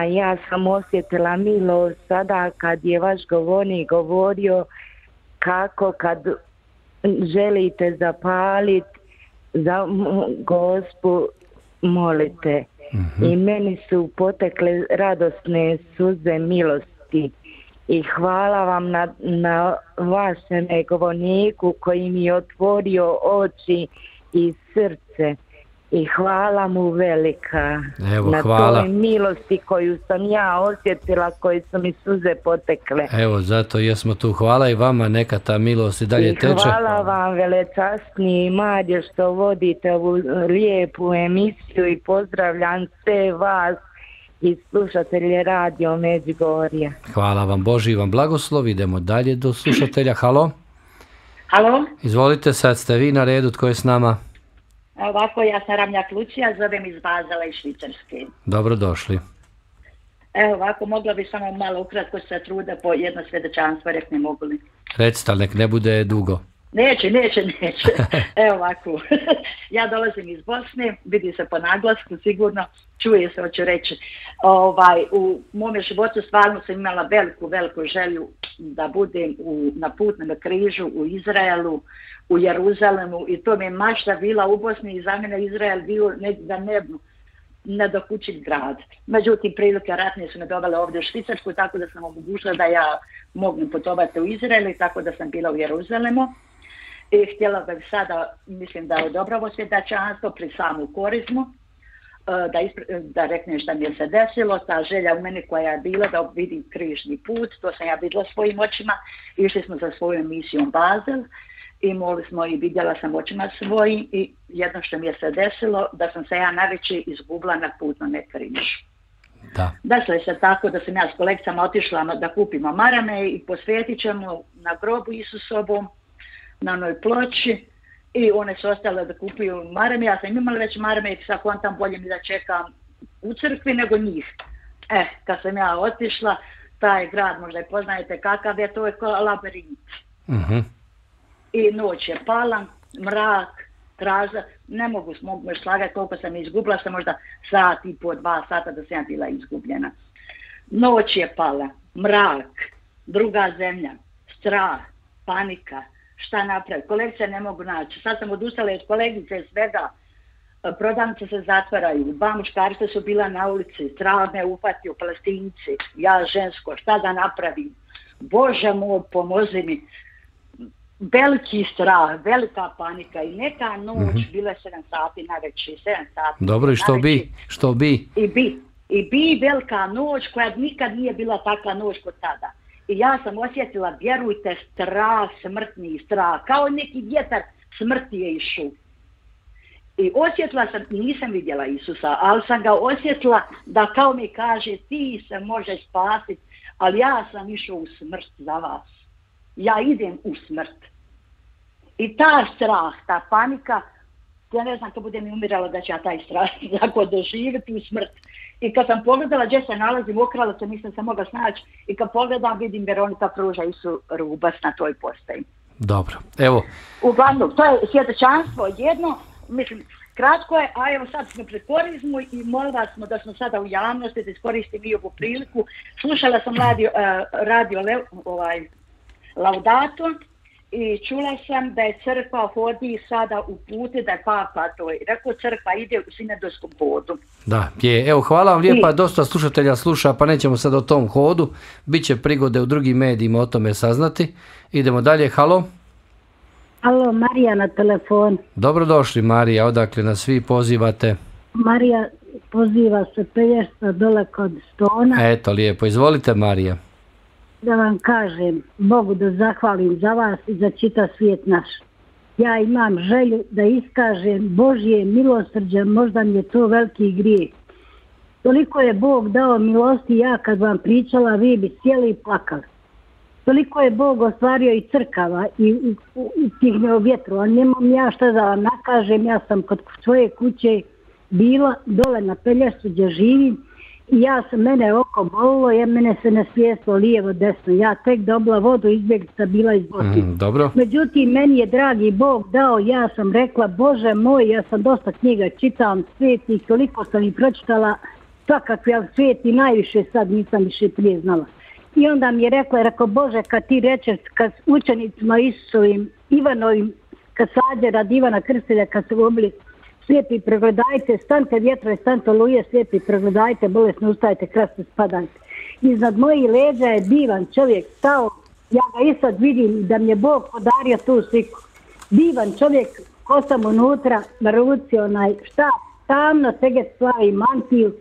ja sam osjetila milost sada kad je vaš govornik govorio kako kad želite zapaliti za Gospu molite. I meni su potekle radosne suze milosti. I hvala vam na vašem govorniku koji mi je otvorio oči i srce. I hvala mu velika. Evo, na hvala. toj milosti koju sam ja osjetila, koje su mi suze potekle. Evo, zato jesmo tu. Hvala i vama, neka ta milost i dalje teče. I hvala vam, velečasni Marije, što vodite ovu lijepu emisiju i pozdravljam sve vas i slušatelje Radio Međugorje. Hvala vam, Boži vam blagoslov. Idemo dalje do slušatelja. Halo? Halo? Izvolite, sad ste vi na redu, tko je s nama? Ovako, ja sam Ramljak Lucija, zovem iz Bazela iz Švicarske. Dobrodošli. Evo ovako, mogla bi samo malo ukratko se truda po jedno svjedočanstvo, rekne mogu li. Recite, ali nek ne bude dugo. Neće. Evo ovako, ja dolazim iz Bosne, vidi se po naglasku, sigurno, čuje se, hoću reći. U mome životu stvarno sam imala veliku želju da budem na putnom križu u Izraelu, u Jeruzalemu i to mi je mašta bila u Bosni i za mene Izrael bio za nedokućiv grad. Međutim, prilike ratne su me dovele ovdje u Švicarsku, tako da sam omogućila da ja mogu putovati u Izrael i tako da sam bila u Jeruzalemu. I htjela bih sada, mislim da je odobravo svjedočanstvo pri samu korizmu, da reknem šta mi je se desilo, ta želja u meni koja je bila da vidim križni put, to sam ja vidjela svojim očima, išli smo za svoju emisijom Bazel i molili smo i vidjela sam očima svojim i jedno što mi je se desilo, da sam se ja navečer izgubila na putnome križu. Desilo se tako da sam ja s kolegicama otišla da kupimo marame i posvetit ćemo na grobu Isusovom, na onoj ploči i one su ostale da kupuju marame. Ja sam imala već marame i sad kontam bolje mi da čekam u crkvi nego njih. Kad sam ja otišla, taj grad, možda i poznajete kakav je, to je kao labirint. I noć je pala, mrak, traža, ne mogu slagati koliko sam izgubila, sam možda sat i po 2 sata da sam ja bila izgubljena. Noć je pala, mrak, druga zemlja, strah, panika, šta napraviti, kolegice ne mogu naći. Sad sam odustala od kolegice svega prodavnice se zatvaraju, 2 muškarca su bila na ulici, strah me upatio, Palestinci, ja žensko, šta da napravim? Bože moj, pomozi mi. Veliki strah, velika panika i neka noć, bila 7 sati na večer, 7 sati. Dobro, i što bi? I bi velika noć koja nikad nije bila takva noć kod tada. I ja sam osjetila, vjerujte, strah, smrtni strah, kao neki vjetar smrti je išao. I osjetila sam, nisam vidjela Isusa, ali sam ga osjetila da kao mi kaže, ti se možeš spasiti, ali ja sam išao u smrt za vas. Ja idem u smrt. I ta strah, ta panika, ja ne znam kad bude mi umirala da će ja taj strah tako doživjeti u smrt. I kad sam pogledala gdje se nalazim, okrala se, nisam se mogla snaći, i kad pogledam vidim Veronika pruža Isu Rubas na toj postaji. Dobro, evo. Uglavnom, to je svjedočanstvo jedno, mislim, kratko je, a evo sad smo pred korizmu i molila smo da smo sada u javnosti, da iskoristim i ovu priliku. Slušala sam radio Laudato i čula sam da je crkva hodi sada u puti, da je papa to je. Rekao, crkva ide u sinodoskom hodu. Da, je. Evo, hvala vam lijepa, dosta slušatelja sluša, pa nećemo sad o tom hodu. Biće prigode u drugim medijima o tome saznati. Idemo dalje, halo. Alo, Marija na telefon. Dobrodošli, Marija, odakle nas svi pozivate? Marija poziva se Pelješca dole kod Stona. Eto, lijepo, izvolite, Marija. Da vam kažem, Bogu da zahvalim za vas i za čitav svijet naš. Ja imam želju da iskažem Božje milosrđe, možda mi je to veliki grijeh. Toliko je Bog dao milosti, ja kad vam pričala, vi bi sjeli i plakali. Toliko je Bog ostvario i crkava i tih vjetru, a nemam ja šta da vam nakažem, ja sam kod svoje kuće bila dole na Pelješcu gdje živim i mene oko bolilo, jer mene se nasvijestilo lijevo desno, ja tek dobila vodu, izbjeglica bila iz Bosne. Dobro. Međutim, meni je dragi Bog dao, ja sam rekla, Bože moj, ja sam dosta knjiga čitam, sveti, toliko sam i pročitala, svakakve, ali sveti najviše sad nisam više prije znala. I onda mi je rekao, Bože, kad ti rečeš, kad učenicima Isusovim, Ivanovim, kad sađe radi Ivana Krstelja, kad se obili, slijepi pregledajte, stante vjetrove, stante oluje, slijepi pregledajte, bolesno ustajte, krasno spadajte. Iznad mojih leđa je divan čovjek stao, ja ga i sad vidim da mi je Bog podario tu sliku. Divan čovjek, kosam unutra, na ruci štap, tamno teget slavi mantiju,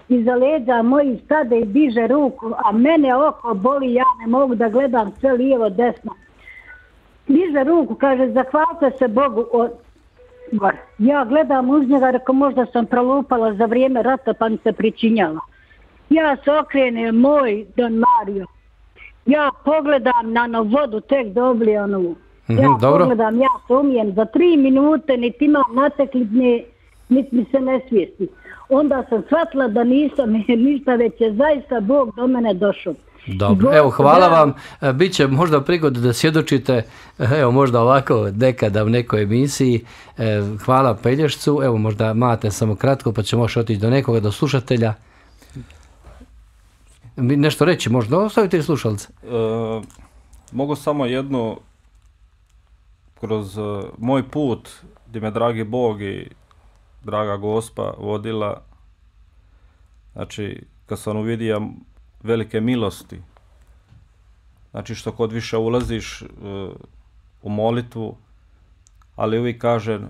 iza leđa moji stade i diže ruku, a mene oko boli, ja ne mogu da gledam sve lijevo, desno. Diže ruku, kaže, zahvalite se Bogu od gore. Ja gledam uz njega, rekao, možda sam prolupala za vrijeme rata pa mi se pričinjala. Ja se okrenem, moj Don Mario. Ja pogledam na vodu, tek dobili pogledam, ja se umijem za 3 minute, niti imam natekli, niti mi se ne svijesti. Onda sam shvatila da nisam ništa, već je zaista Bog do mene došao. Dobro, evo, hvala vam. Biće možda prigode da svjedočite, evo, možda ovako nekada u nekoj emisiji. Hvala Pelješcu, evo, možda imate samo kratko, pa ćemo još otići do nekoga, do slušatelja. Nešto reći, možda ostavite i slušalce. Mogu samo jednu, kroz moj put, gdje me dragi Bog i draga Gospa vodila, znači, kad sam uvidio velike milosti, znači što kod više ulaziš u molitvu, ali uvijek kažem,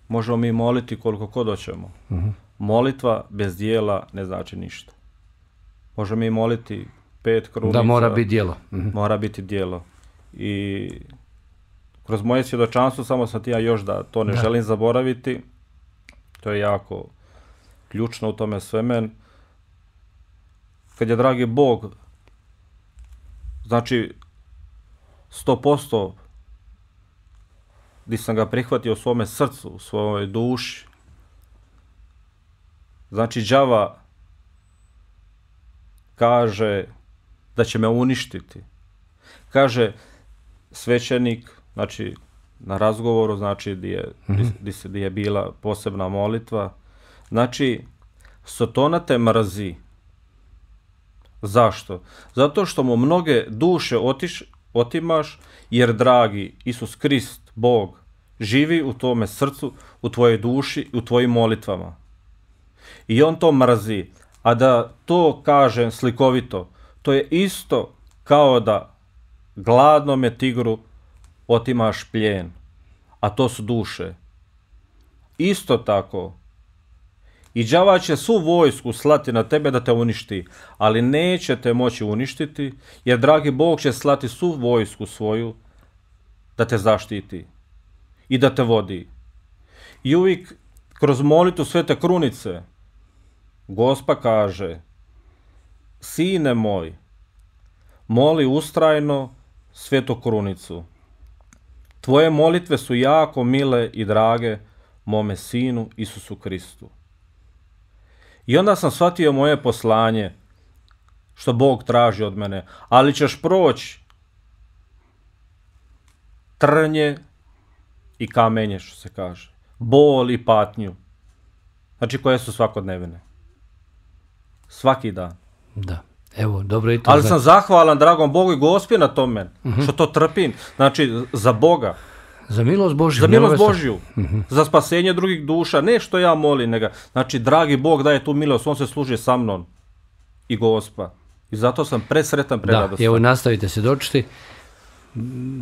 možemo mi moliti koliko god hoćemo. Molitva bez dijela ne znači ništa. Možemo mi moliti 5 krunica. Da, mora biti djelo. Mora biti djelo. I kroz moje svjedočanstvo, samo sam ti ja još da to ne želim zaboraviti, to je jako ključno u tome sveme. Kad je dragi Bog, znači 100% gdje sam ga prihvatio u svome srcu, u svojoj duši, znači đava kaže da će me uništiti. Kaže svećenik, znači na razgovoru, znači gdje je bila posebna molitva, znači Sotona te mrzi. Zašto? Zato što mu mnoge duše otimaš, jer dragi Isus Krist, Bog, živi u tvome srcu, u tvojoj duši, u tvojim molitvama. I on to mrzi. A da to kažem slikovito, to je isto kao da gladnome tigru otimaš plijen, a to su duše. Isto tako. I đava će svu vojsku slati na tebe da te uništi, ali neće te moći uništiti, jer dragi Bog će slati svu vojsku svoju da te zaštiti i da te vodi. I uvijek kroz molitvu Svete Krunice Gospa kaže: Sine moj, moli ustrajno Svetu Krunicu. Tvoje molitve su jako mile i drage mome sinu Isusu Kristu. I onda sam shvatio moje poslanje, što Bog traži od mene, ali ćeš proći trnje i kamenje, što se kaže, bol i patnju, znači koje su svakodnevne. Svaki dan. Da. Evo, dobro i to. Ali sam zahvalan dragom Bogu i Gospi na tome, što to trpim, znači za Boga. Za milost Božju. Za milost Božju. Za spasenje drugih duša. Ne što ja molim, nego, znači, dragi Bog daje tu milost, on se služi sa mnom i Gospa. I zato sam presretan, preradostan. Da, evo, nastavite se dočiti.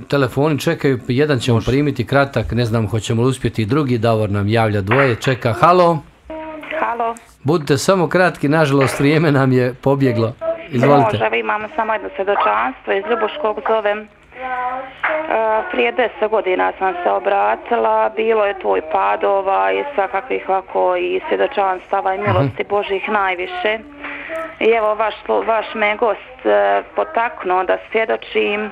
Telefoni čekaju, jedan ćemo primiti kratak, ne znam hoćemo li uspjeti, drugi Davor nam javlja, dvoje čeka. Halo? Halo? Budite samo kratki, nažalost vrijeme nam je pobjeglo. Izvolite. Može, imamo samo jedno svjedočanstvo iz Ljubuškog, zovem. Prije 10 godina sam se obratila, bilo je tvoj padova i svakakvih ovako i svjedočanstava i milosti Božih najviše. I evo vaš me gost potaknuo da svjedočim.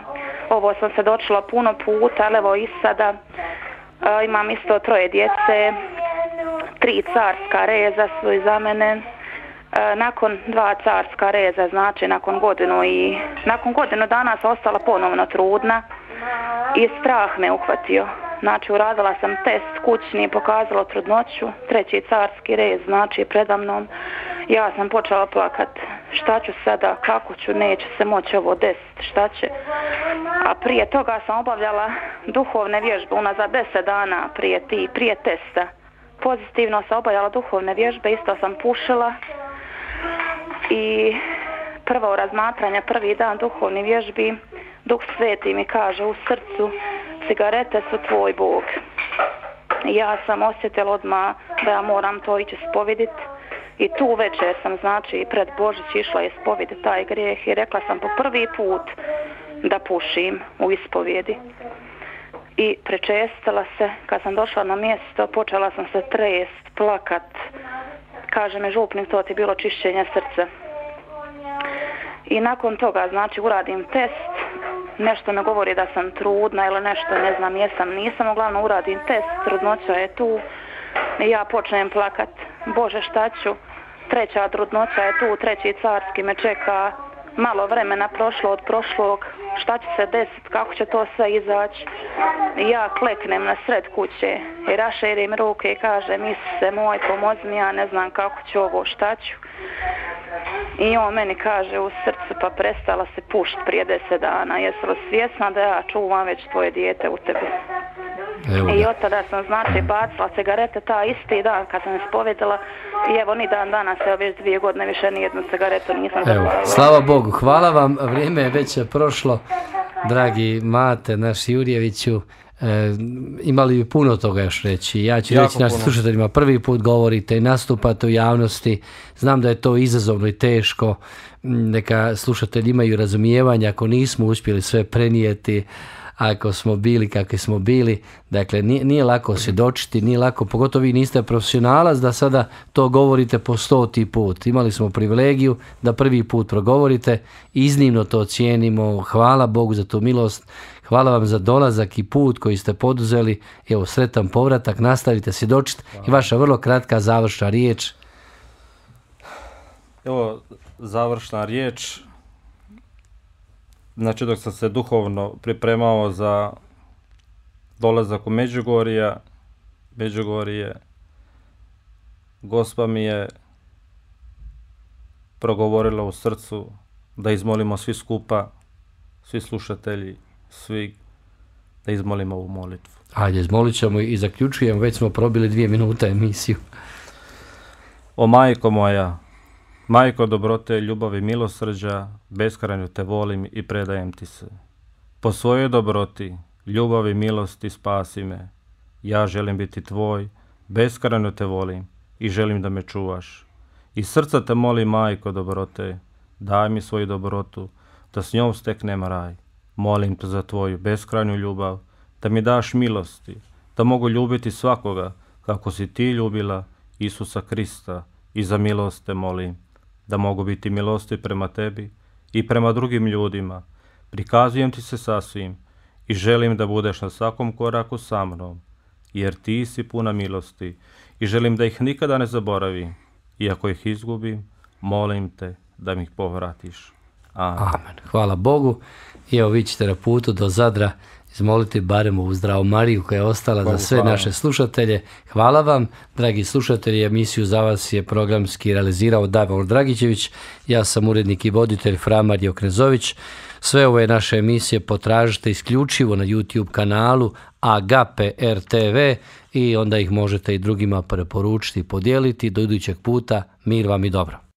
Ovo sam svjedočila puno puta, ali evo i sada imam isto 3 djece, 3 carska reza su iza mene. Nakon 2 carska reza, znači nakon godinu dana sam ostala ponovno trudna i strah me uhvatio. Znači uradila sam test kućni, pokazalo trudnoću, 3. carski rez, znači preda mnom. Ja sam počela plakat. Šta ću sada, kako ću, neće se moći ovo desiti, šta će. A prije toga sam obavljala duhovne vježbe, unazad 10 dana prije testa. Pozitivno sam obavljala duhovne vježbe, isto sam pušila. I prvo razmatranje, prvi dan duhovnih vježbi, Duh Sveti mi kaže u srcu: cigarete su tvoj Bog. Ja sam osjetila odmah da ja moram to ići ispoviditi. I tu večer sam, znači, pred Božić išla ispoviditi taj grijeh i rekla sam po prvi put da pušim u ispovjedi. I prečestila se, kad sam došla na mjesto, počela sam se trest, plakat. Kaže me župnik, to ti bilo čišćenje srca. I nakon toga, znači, uradim test, nešto me govori da sam trudna ili nešto, ne znam, nisam, uglavnom uradim test, trudnoća je tu i ja počnem plakat. Bože, šta ću? 3. trudnoća je tu, 3. carski me čeka, malo vremena prošlo od prošlog, šta će se desiti, kako će to sve izaći. Ja kleknem na sred kuće i raširim ruke i kažem: Isuse moj, pomozi mi, ja ne znam kako ću ovo, šta ću. I on meni kaže u srcu: pa prestala se pušiti prije 10 dana, jesi li svjesna da ja čuvam već tvoje dijete u tebi? I od tada sam, znači, bacila cigarete ta isti dan kad sam ispovedala i evo ni dan danas, evo već 2 godine više nijednu cigaretu nisam zapalila. Slava Bogu, hvala vam, vrijeme je već prošlo, dragi Mate, naš Jurjeviću. Imali bi puno toga još reći. Ja ću reći našim slušateljima, prvi put govorite i nastupate u javnosti. Znam da je to izazovno i teško. Neka slušatelji imaju razumijevanja ako nismo uspjeli sve prenijeti, ako smo bili kakvi smo bili. Dakle, nije lako svjedočiti, nije lako, pogotovo vi niste profesionalac da sada to govorite po 100. put. Imali smo privilegiju da prvi put progovorite, iznimno to cijenimo. Hvala Bogu za tu milost. Hvala vam za dolazak i put koji ste poduzeli. Evo, sretan povratak, nastavite svjedočiti. I vaša vrlo kratka završna riječ. Evo, završna riječ. Znači, dok sam se duhovno pripremao za dolazak u Međugorje, Gospa mi je progovorila u srcu da izmolimo svi skupa, svi slušatelji, svi, da izmolimo ovu molitvu. Ajde, izmolit ćemo i zaključujemo, već smo probili 2 minute emisiju. O majko moja, majko dobrote, ljubavi, milosrđa, beskrajno te volim i predajem ti se. Po svojoj dobroti, ljubavi, milosti spasi me. Ja želim biti tvoj, beskrajno te volim i želim da me čuvaš. Iz srca te molim, majko dobrote, daj mi svoju dobrotu, da s njom steknem raj. Molim te za tvoju beskrajnu ljubav, da mi daš milosti, da mogu ljubiti svakoga kako si ti ljubila Isusa Krista, i za milost te molim, da mogu biti milosti prema tebi i prema drugim ljudima. Prikazujem ti se sasvim i želim da budeš na svakom koraku sa mnom, jer ti si puna milosti i želim da ih nikada ne zaboravim. I ako ih izgubim, molim te da mi ih povratiš. Amen. Hvala Bogu. I evo vi ćete na putu do Zadra izmoliti barem ovu Zdravu Mariju koja je ostala za sve naše slušatelje. Hvala vam, dragi slušatelji. Emisiju za vas je programski realizirao Davor Dragićević. Ja sam urednik i voditelj Fra Marija Oknezović. Sve ove naše emisije potražite isključivo na YouTube kanalu Agape RTV i onda ih možete i drugima preporučiti i podijeliti. Do idućeg puta, mir vam i dobro.